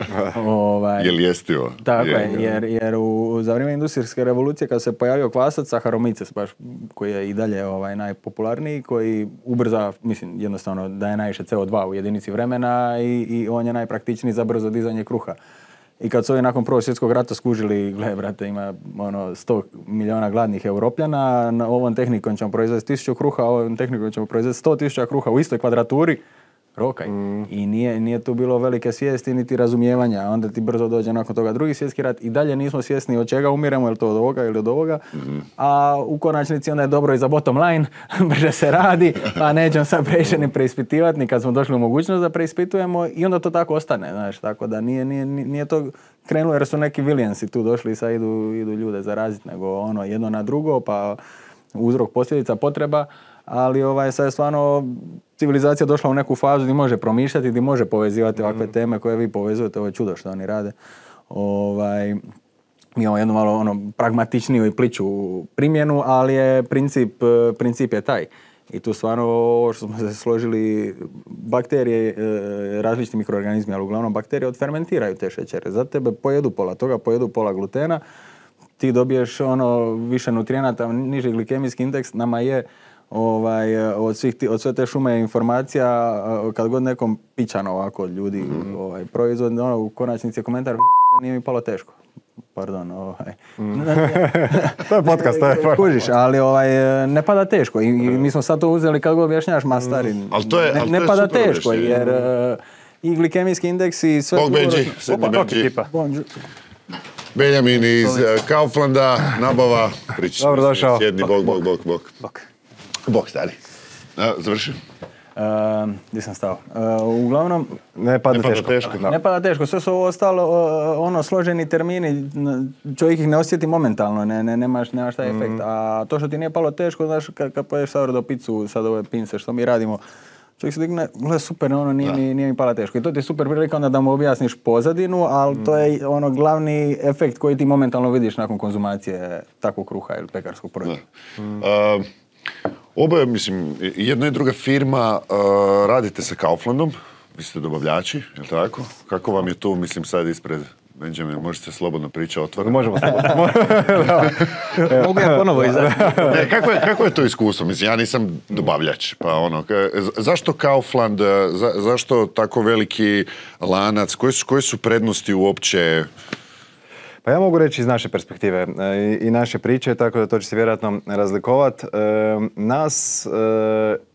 Je li jestivo? Tako je, jer za vrijeme industrijske revolucije kad se pojavio kvasac, Saccharomyces, baš koji je i dalje najpopularniji, koji ubrza, mislim, jednostavno daje najviše CO2 u jedinici vremena i on je najpraktičniji za brzo dizanje kruha. I kad su ovi nakon Prvog svjetskog rata skužili, gle, brate, ima 100 milijuna gladnih Europljana, ovom tehnikom ćemo proizvesti 1000 kruha, ovom tehnikom ćemo proizvesti 100.000 kruha u istoj kvadraturi, rokaj. I nije tu bilo velike svijesti niti razumijevanja. Onda ti brzo dođe nakon toga Drugi svjetski rat i dalje nismo svjesni od čega umiremo, je li to od ovoga ili od ovoga. A u konačnici onda je dobro i za bottom line, brže se radi, pa nećemo sad previše ni preispitivati, ni kad smo došli u mogućnost da preispitujemo i onda to tako ostane, znaš, tako da nije to krenulo jer su neki Williamsi tu došli i sad idu ljude zaraziti, nego jedno na drugo, pa uzrok, posljedica, potreba. Ali sad je stvarno civilizacija došla u neku fazu gdje može promišljati, gdje može povezivati ovakve teme koje vi povezujete, ovo je čudo što oni rade. Mi imamo jednu malo pragmatičniju i pliću primjenu, ali je princip je taj. I tu stvarno ovo što smo se složili, bakterije, različiti mikroorganizmi, ali uglavnom bakterije odfermentiraju te šećere. Za tebe pojedu pola toga, pojedu pola glutena, ti dobiješ više nutrijenata, niži glikemijski indeks, nama je od sve te šume informacija, kad god nekom pičano ovako od ljudi proizvod, u konačnici je komentar, nije mi palo teško. Pardon, to je podcast, to je kužiš, ali ne pada teško i mi smo sad to uzeli kad god objašnjaš, stari, ne pada teško, jer i glikemijski indeks i sve... Bog Benji, sedmi Benji. Benjamin iz Kauflanda, nabava, priča. Dobro došao. Sjedni, bok, stari. Završi. Gdje sam stao? Uglavnom... Ne pada teško. Ne pada teško. Sve su ovo ostalo složeni termini. Čovjek ih ne osjeti momentalno. Nemaš taj efekt. A to što ti nije palo teško, znaš, kad poješ sourdough pizzu, sad ove pince, što mi radimo, čovjek se digne, gle, super, nije mi pala teško. I to ti je super prilika onda da mu objasniš pozadinu, ali to je glavni efekt koji ti momentalno vidiš nakon konzumacije takvog kruha ili pekarskog proizvoda. Oboje, mislim, jedna i druga firma radite sa Kauflandom, vi ste dobavljači, je li tako? Kako vam je tu, mislim, sad ispred Benjamin, možete slobodno pričati otvoreno? Možemo slobodno. Mogu ja ponovo izaći. Kako je to iskustvo? Mislim, ja nisam dobavljač, pa zašto Kaufland, zašto tako veliki lanac, koje su prednosti uopće? Pa ja mogu reći iz naše perspektive i naše priče, tako da to će se vjerojatno razlikovati. Nas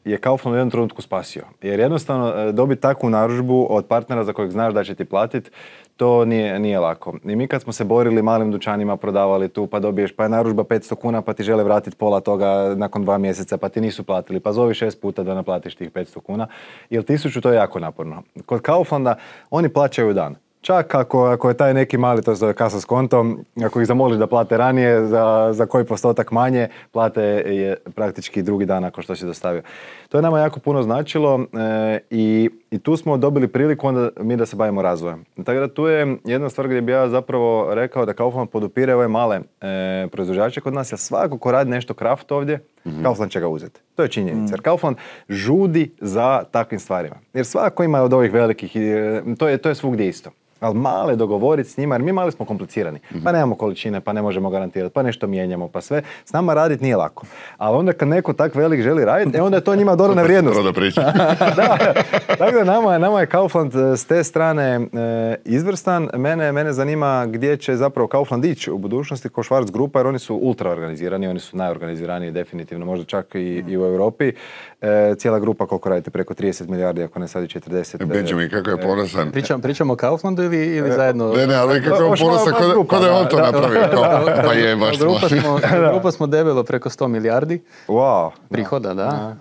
je Kaufland u jednom trenutku spasio. Jer jednostavno dobiti takvu narudžbu od partnera za kojeg znaš da će ti platiti, to nije lako. I mi kad smo se borili malim dućanima, prodavali tu, pa dobiješ, pa je narudžba 500 kuna, pa ti žele vratiti pola toga nakon 2 mjeseca, pa ti nisu platili, pa zovi 6 puta da naplatiš tih 500 kuna, jer 1000 to je jako naporno. Kod Kauflanda oni plaćaju dan. Čak ako je taj neki mali, to se zove kasa s kontom, ako ih zamoliš da plate ranije, za koji postotak manje, plate je praktički drugi dan nakon što si dostavio. To je nama jako puno značilo i tu smo dobili priliku onda mi da se bavimo razvojem. Tako da tu je jedna stvar gdje bi ja zapravo rekao da Kaufland podupire ove male proizvođače kod nas, jer svako ko radi nešto kraft ovdje, Kaufland će ga uzeti. To je činjenica. Jer Kaufland žudi za takvim stvarima. Jer svako ima od ovih velikih, to je svugdje isto. Ali male dogovoriti s njima, jer mi mali smo komplicirani. Pa nemamo količine, pa ne možemo garantirati, pa nešto mijenjamo, pa sve. S nama raditi nije lako. Ali onda kad neko tak velik želi raditi, onda je to njima dodana vrijednost. Da, tako da nama je Kaufland s te strane izvrstan. Mene zanima gdje će zapravo Kaufland ići u budućnosti ko Schwarz grupa, jer oni su ultra organizirani, oni su najorganiziraniji definitivno, možda čak i u Europi. Cijela grupa, koliko radite, preko 30 milijardi, ako ne sad i 40. Benjamin, kako je ponosan. Pričamo o Kauflandu ili zajedno? Ne, ali kako je ponosan, kod je on to napravio. Pa je, baš smo. Grupa smo debelo preko 100 milijardi prihoda, da.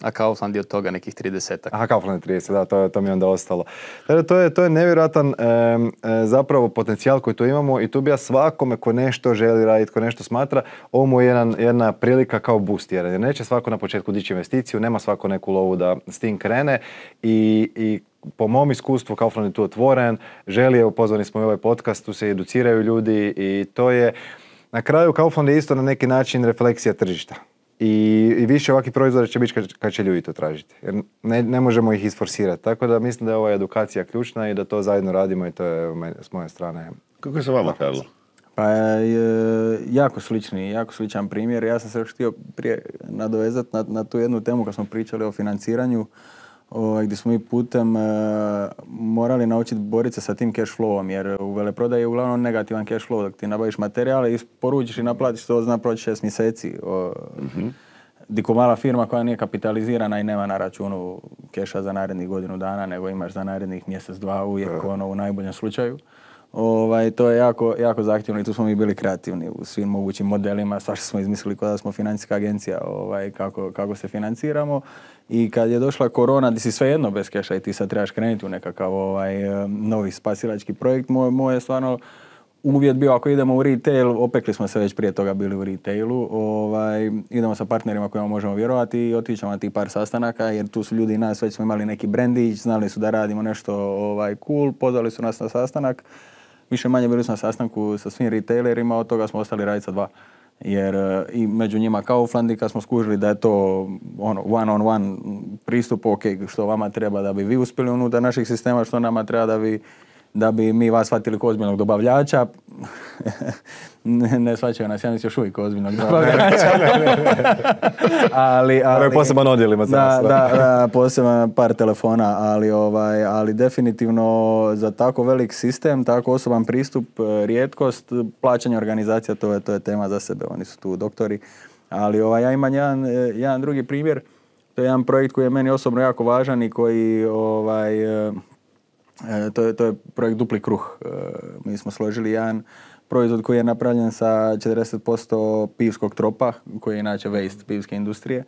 A Kaufland je od toga nekih 30-ak. Aha, Kaufland je 30, da, to mi je onda ostalo. To je nevjerojatan zapravo potencijal koji tu imamo i tu bi ja svakome ko nešto želi raditi, ko nešto smatra, ovo mu je jedna prilika kao boost, jer neće svako na početku dići investiciju, nema svako neku lovu da s tim krene i po mom iskustvu Kaufland je tu otvoren, želi, pozvani smo i ovaj podcast, tu se educiraju ljudi i to je, na kraju Kaufland je isto na neki način refleksija tržišta. I više ovakvih proizvoda će biti kad će ljudi to tražiti. Jer ne možemo ih isforsirati. Tako da mislim da je ova edukacija ključna i da to zajedno radimo i to je s moje strane. Kako je sa vama, Karlo? Pa jako sličan primjer. Ja sam se još htio prije nadovezati na tu jednu temu kad smo pričali o financiranju, gdje smo mi putem morali naučiti boriti se sa tim cash flowom, jer u veleprodaji je uglavnom negativan cash flow. Dok ti nabaviš materijale, isporučiš i naplatiš, to zna proći 6 mjeseci. Diko mala firma koja nije kapitalizirana i nema na računu keša za narednih godinu dana, nego imaš za narednih mjesec, dva, uvijek u najboljem slučaju. To je jako zahtjevno i tu smo mi bili kreativni u svim mogućim modelima, svašta smo izmislili kao da smo financijska agencija, kako se financiramo. I kad je došla korona, di si svejedno bez keša i ti sad trebaš krenuti u nekakav novi spasilački projekt, moj je stvarno uvjet bio ako idemo u retail, opekli smo se već prije toga bili u retailu, idemo sa partnerima kojima možemo vjerovati i otićemo na tih par sastanaka, jer tu su ljudi nas, već smo imali neki brandić, znali su da radimo nešto cool, pozvali su nas na sastanak. Više manje bili smo na sastanku sa svim retailerima, od toga smo ostali raditi sa 2. Jer i među njima Kaufland, i kad smo skužili da je to one-on-one pristup, ok, što vama treba da bi vi uspjeli unutar naših sistema, što nama treba da bi mi vas shvatili kao ozbiljnog dobavljača. Ne shvaćaju nas, ja mislim još uvijek ozbiljnog dobavljača. ali poseban odjel ima. Da, poseban par telefona, ali definitivno za tako velik sistem, tako osoban pristup, rijetkost, plaćanje organizacija, to je tema za sebe, oni su tu doktori. Ali ja imam jedan drugi primjer, to je jedan projekt koji je meni osobno jako važan i koji to je projekt Dupli kruh. Mi smo složili jedan proizvod koji je napravljen sa 40% pivskog tropa, koji je inače waste pivske industrije.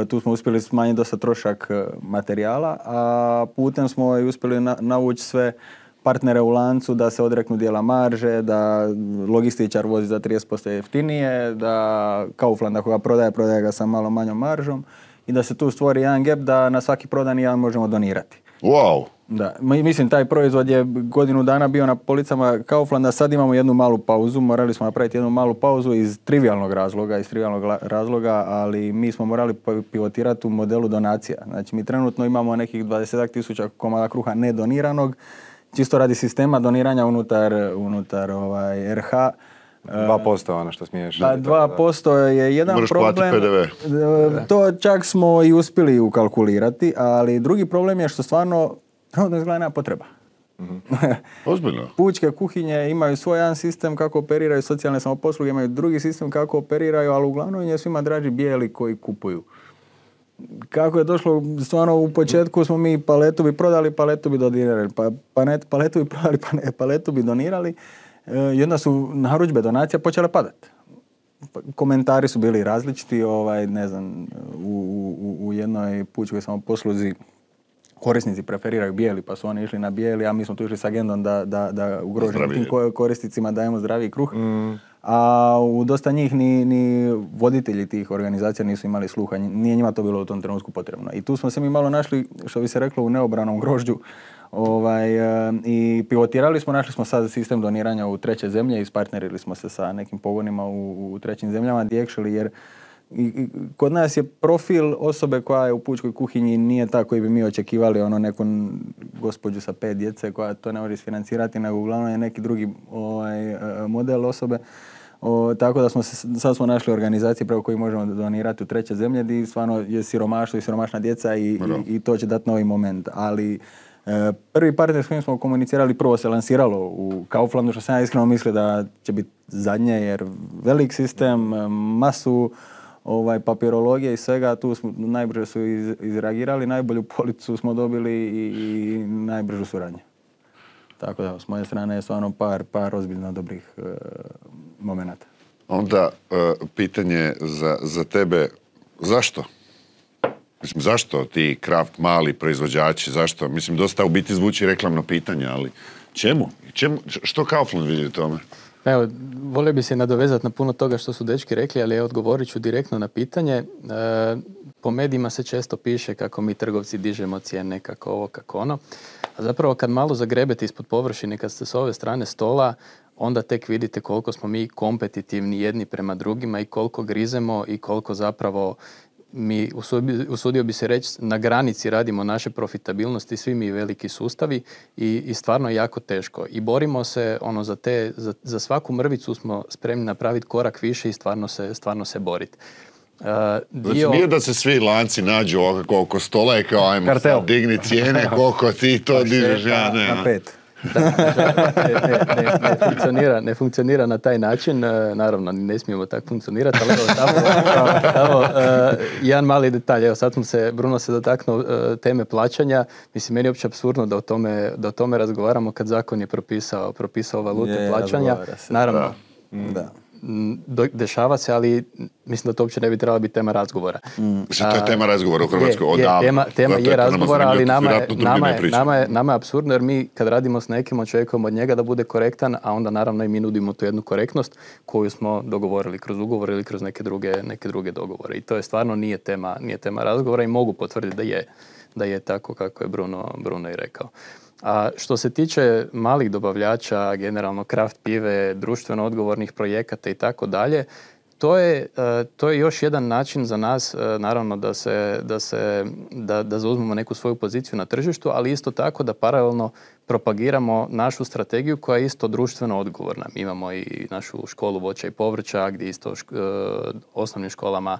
Tu smo uspjeli smanjiti dosta trošak materijala, a putem smo i uspjeli navući sve partnere u lancu da se odreknu dijela marže, da logističar vozi za 30% jeftinije, da Kaufland ako ga prodaje ga sa malo manjom maržom i da se tu stvori jedan gap da na svaki prodani jedan možemo donirati. Wow! Da, mislim taj proizvod je godinu dana bio na policama Kauflanda, sad imamo jednu malu pauzu, morali smo napraviti jednu malu pauzu iz trivialnog razloga, ali mi smo morali pivotirati u modelu donacija. Znači mi trenutno imamo nekih 20.000 komada kruha nedoniranog, čisto radi sistema doniranja unutar RH. 2% ono što smiješ. 2% je jedan moraš problem. PDV. To čak smo i uspjeli ukalkulirati, ali drugi problem je što stvarno trenutno izgleda nema potreba. Ozbiljno. Pučke kuhinje imaju svoj jedan sistem kako operiraju, socijalne samoposluge imaju drugi sistem kako operiraju, ali uglavnom je svima draži bijeli koji kupuju. Kako je došlo, stvarno u početku smo mi paletu bi prodali, paletu bi donirali, paletu bi prodali, paletu bi donirali. I onda su narudžbe donacija počele padati. Komentari su bili različiti, ne znam, u jednoj pučkoj samoposluzi korisnici preferiraju bijeli, pa su oni išli na bijeli, a mi smo tu išli s agendom da ugroženim korisnicima dajemo zdraviji kruh. A u dosta njih ni voditelji tih organizacija nisu imali sluha, nije njima to bilo u tom trenutku potrebno. I tu smo se mi malo našli, što bi se reklo, u neobranom grožđu. I pivotirali smo, našli smo sad sistem doniranja u treće zemlje, ispartnerili smo se sa nekim pogonima u trećim zemljama, jer kod nas je profil osobe koja je u pučkoj kuhinji nije tako koji bi mi očekivali, neku gospođu sa 5 djece koja to ne može isfinancirati, nego uglavnom je neki drugi model osobe. Tako da sad smo našli organizacije preko koji možemo donirati u treće zemlje gdje stvarno je siromaštvo i siromašna djeca i to će dati novi moment. Ali prvi partner s kojim smo komunicirali prvo se lansiralo u Kauflandu, što sam ja iskreno mislio da će biti zadnje, jer velik sistem, masu papirologije i svega, tu smo najbrže su izreagirali, najbolju policu smo dobili i najbržu suradnju. Tako da, s moje strane je stvarno par ozbiljno dobrih momenata. Onda pitanje za tebe, zašto? Mislim, zašto ti kraft mali proizvođači, zašto? Mislim, dosta u biti zvuči reklamno pitanje, ali čemu? Što Kaufland vidi u tome? Evo, volio bi se nadovezati na puno toga što su dečki rekli, ali odgovorit ću direktno na pitanje. Po medijima se često piše kako mi trgovci dižemo cijene, kako ovo, kako ono. A zapravo kad malo zagrebete ispod površine, kad ste s ove strane stola, onda tek vidite koliko smo mi kompetitivni jedni prema drugima i koliko grizemo i koliko zapravo mi, usudio bi se reći, na granici radimo naše profitabilnosti, svi mi veliki sustavi i stvarno je jako teško. I borimo se za svaku mrvicu smo spremni napraviti korak više i stvarno se boriti. Znači nije da se svi lanci nađu oko stola i kao ajmo sad digni cijene, koliko ti to dižeš, ja ne. Na 5. Ne funkcionira na taj način, naravno ne smijemo tako funkcionirati, ali evo, jedan mali detalj, evo sad Bruno se dotaknuo teme plaćanja, mislim meni je uopće apsurdno da o tome razgovaramo kad zakon je propisao valutu plaćanja, naravno. Da. Dešava se, ali mislim da to uopće ne bi trebala biti tema razgovora. To je tema razgovora u Hrvatskoj. Tema je razgovora, ali nama je apsurdno jer mi kad radimo s nekim očekujemo od njega da bude korektan, a onda naravno i mi nudimo tu jednu korektnost koju smo dogovorili kroz ugovor ili kroz neke druge dogovore. I to je stvarno nije tema razgovora i mogu potvrditi da je tako kako je Bruno i rekao. A što se tiče malih dobavljača, generalno kraft pive, društveno odgovornih projekata i tako dalje, to je još jedan način za nas, naravno da zauzmemo neku svoju poziciju na tržištu, ali isto tako da paralelno propagiramo našu strategiju koja je isto društveno odgovorna. Mi imamo i našu školu voća i povrća gdje isto osnovnim školama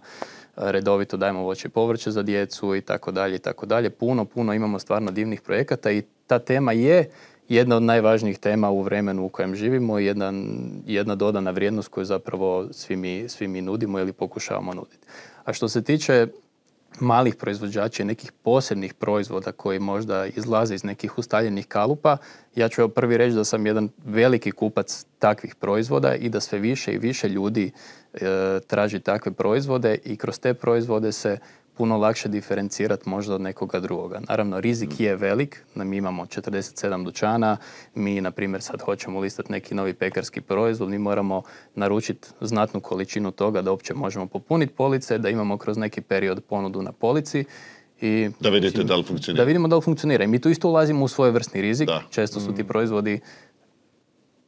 redovito dajemo voće i povrće za djecu i tako dalje. Puno imamo stvarno divnih projekata i ta tema je jedna od najvažnijih tema u vremenu u kojem živimo i jedna dodana vrijednost koju zapravo svi mi nudimo ili pokušavamo nuditi. A što se tiče malih proizvođača i nekih posebnih proizvoda koji možda izlaze iz nekih ustaljenih kalupa, ja ću prvi reći da sam jedan veliki kupac takvih proizvoda i da sve više i više ljudi traži takve proizvode i kroz te proizvode se puno lakše diferencirati možda od nekoga drugoga. Naravno, rizik je velik, mi imamo 47 dućana, mi, na primjer, sad hoćemo listati neki novi pekarski proizvod, mi moramo naručiti znatnu količinu toga da uopće možemo popuniti police, da imamo kroz neki period ponudu na polici. I, da vidite da li funkcionira. Da vidimo da li funkcionira. I mi tu isto ulazimo u svojevrsni rizik. Često su ti proizvodi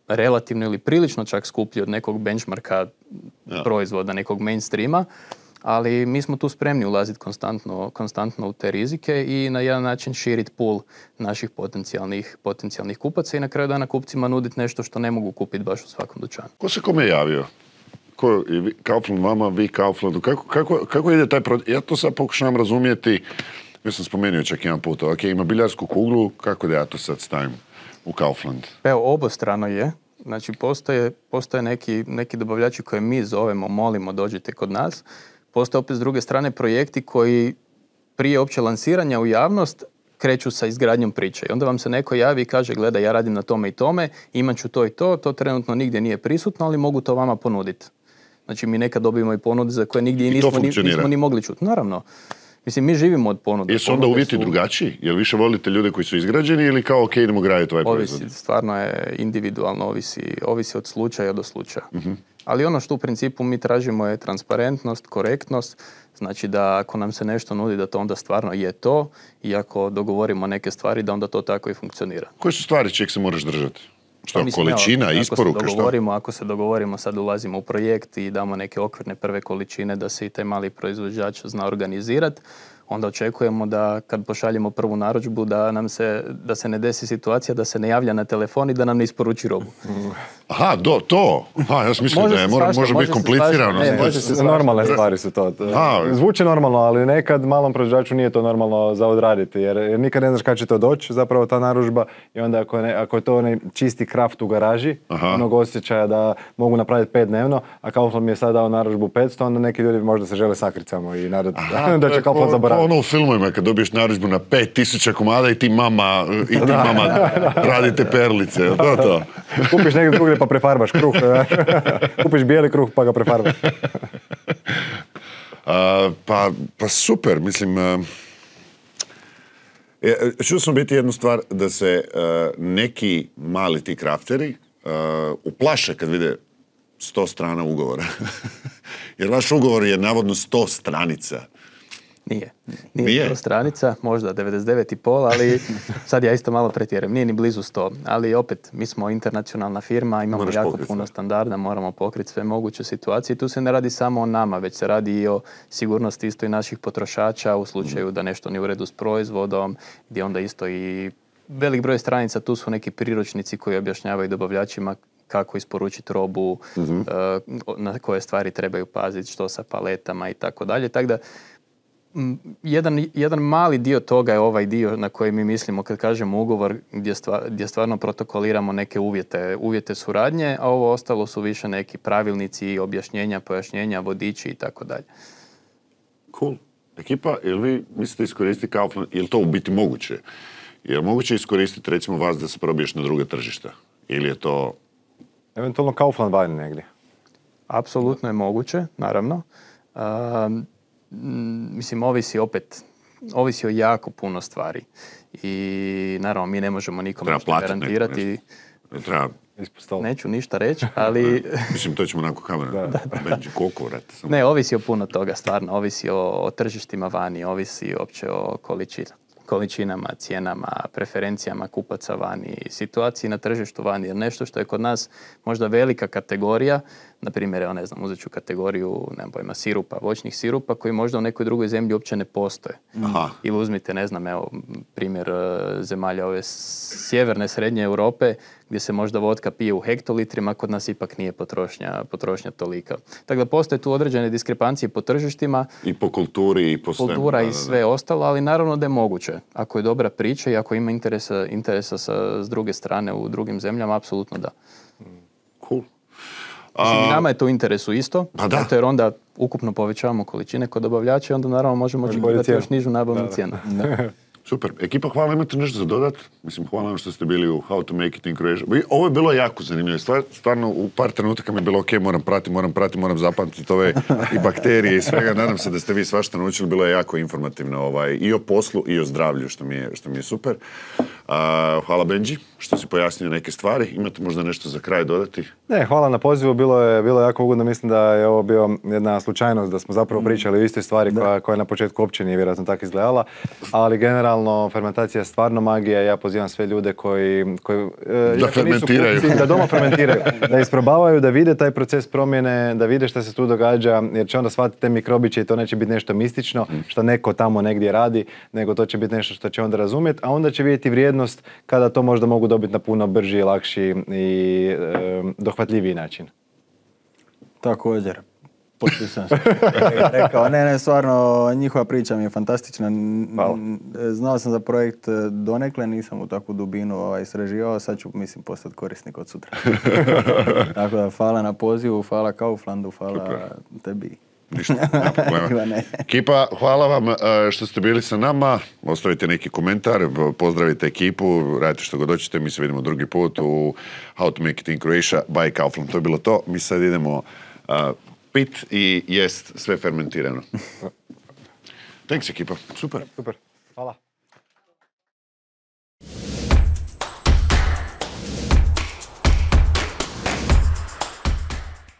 relativno ili prilično čak skuplji od nekog benchmarka proizvoda, nekog mainstreama, ali mi smo tu spremni ulaziti konstantno u te rizike i na jedan način širiti pool naših potencijalnih kupaca i na kraju dana kupcima nuditi nešto što ne mogu kupiti baš u svakom dućanu. Ko se kome javio? Kaufland vama, vi Kauflandu. Kako ide taj proces? Ja to sad pokušavam razumjeti. Ja sam spomenuo čak jedan put. Ok, ima biljarsku kuglu. Kako da ja to sad stavim u Kaufland? Evo, obostrano je. Znači, postoje neki dobavljači koje mi zovemo, molimo, dođite kod nas. Postoje opet s druge strane projekti koji prije opće lansiranja u javnost kreću sa izgradnjom priče. I onda vam se neko javi i kaže, gledaj, ja radim na tome i tome, imat ću to i to trenutno nigdje nije prisutno, ali mogu to vama ponuditi. Znači, mi nekad dobijemo i ponude za koje nigdje nismo ni mogli čuti. Naravno. Mislim, mi živimo od ponude. Jesu onda uvjeti drugačiji? Jel više volite ljude koji su izgrađeni ili kao ok, idemo graditi ovaj proizvod? Ovisi, stvarno je individualno, ovisi od slučaja do slučaja. Ali ono što u principu mi tražimo je transparentnost, korektnost, znači da ako nam se nešto nudi da to onda stvarno je to i ako dogovorimo neke stvari da onda to tako i funkcionira. Koje su stvari čeg se moraš držati? Što, količina, isporuka, što? Ako se dogovorimo, sad ulazimo u projekt i damo neke okvirne prve količine da se i taj mali proizvođač zna organizirati, onda očekujemo da kad pošaljemo prvu narudžbu da se ne desi situacija da se ne javlja na telefon i da nam ne isporuči robu. Aha, to. Ja sam mislim da može biti komplicirano. Normalne stvari su to. Zvuči normalno, ali nekad malom proizvođaču nije to normalno za odraditi, jer nikad ne znaš kad će to doći, zapravo ta narudžba, i onda ako je to onaj čisti kraft u garaži, onog osjećaja da mogu napraviti 5 dnevno, a Kaufland mi je sad dao narudžbu 500, onda neki ljudi možda se žele sakricamo i da će Kaufland zaboraviti. Ono u filmovima kad dobiješ narudžbu na 5000 komada i ti mama radite perlice. To. Kupiš negdje drugdje pa prefarbaš kruh. Kupiš bijeli kruh pa ga prefarbaš. Pa super, mislim... Čuo sam biti jednu stvar da se neki mali ti krafteri uplaše kad vide 100 strana ugovora. Jer vaš ugovor je navodno 100 stranica. Nije 100 stranica, možda 99,5, ali sad ja isto malo pretjerujem. Nije ni blizu 100, ali opet, mi smo internacionalna firma, imamo jako puno standarda, moramo pokriti sve moguće situacije. Tu se ne radi samo o nama, već se radi i o sigurnosti isto i naših potrošača u slučaju da nešto nije u redu s proizvodom, gdje onda isto i velik broj stranica, tu su neki priručnici koji objašnjavaju dobavljačima kako isporučiti robu, na koje stvari trebaju paziti, što sa paletama i tako dalje. Tako da, jedan mali dio toga je ovaj dio na koji mi mislimo kad kažemo ugovor gdje stvarno protokoliramo neke uvjete suradnje, a ovo ostalo su više neki pravilnici, objašnjenja, pojašnjenja, vodiči i tako dalje. Cool. Ekipa, jel vi mislite iskoristiti Kaufland, je li to u biti moguće? Je li moguće iskoristiti recimo vas da se probiješ na druge tržišta? Ili je to... Eventualno Kaufland vani negdje. Apsolutno je moguće, naravno. Mislim, ovisi o jako puno stvari. I naravno, mi ne možemo nikome garantirati. Neću ništa reći, ali... Mislim, to ćemo nakon kamera. Koliko vrata? Ne, ovisi o puno toga, stvarno. Ovisi o tržištima vani, ovisi uopće o količinama, cijenama, preferencijama kupaca vani, situaciji na tržištu vani. Jer nešto što je kod nas možda velika kategorija, na primjer, evo ne znam, uzet ću kategoriju, nemam pojma, sirupa, voćnih sirupa, koji možda u nekoj drugoj zemlji uopće ne postoje. Aha. Ili uzmite, ne znam, evo, primjer zemalja ove sjeverne, srednje Europe, gdje se možda vodka pije u hektolitrima, kod nas ipak nije potrošnja tolika. Tako da postoje tu određene diskrepancije po tržištima. I po kulturi i po svemu. Kultura i sve ostalo, ali naravno da je moguće. Ako je dobra priča i ako ima interesa s druge strane u drugim zemljama, apsolutno da. Cool. Mislim, i nama je to u interesu isto, jer onda ukupno povećavamo količine kod dobavljača i onda naravno možemo očekivati još nižu nabavnu cijenu. Super. Ekipa, hvala, imate nešto za dodat? Mislim, hvala vam što ste bili u How to Make It in Croatia. Ovo je bilo jako zanimljivo. Stvarno, u par trenutaka mi je bilo ok, moram zapamtiti ove i bakterije i svega. Nadam se da ste vi svašta naučili. Bilo je jako informativno i o poslu i o zdravlju, što mi je super. Hvala Benji, što si pojasnio neke stvari. Imate možda nešto za kraj dodati? Ne, hvala na pozivu. Bilo je jako ugodno. Mislim da je ovo bio jedna slučajnost, da smo zapravo pričali o istoj stvari koja na početku uopće nije vjerojatno tako izgledala. Ali generalno, fermentacija je stvarno magija. Ja pozivam sve ljude koji da fermentiraju. Da doma fermentiraju. Da isprobavaju, da vide taj proces promjene, da vide šta se tu događa, jer će onda shvatiti te mikrobiće i to neće biti nešto mistično, što neko tamo negdje radi, nego to će biti nešto što će onda razumjeti, a onda će vidjeti vrijednost kada to možda mogu dobiti na puno brži, lakši i dohvatljiviji način. Također. Potpisujem se. Rekao, ne, stvarno, njihova priča mi je fantastična. Znao sam za projekt donekle, nisam u takvu dubinu istraživao, sad ću, mislim, postati korisnik od sutra. Tako da, hvala na pozivu, hvala Kauflandu, hvala tebi. Ništa, nema problema. Ekipa, hvala vam što ste bili sa nama. Ostavite neki komentar, pozdravite ekipu, radite što god hoćete. Mi se vidimo drugi put u How to Make It in Croatia by Kaufland. To je bilo to. Mi sad idemo pit i jest sve fermentirano. Thanks ekipa, super. Super, hvala.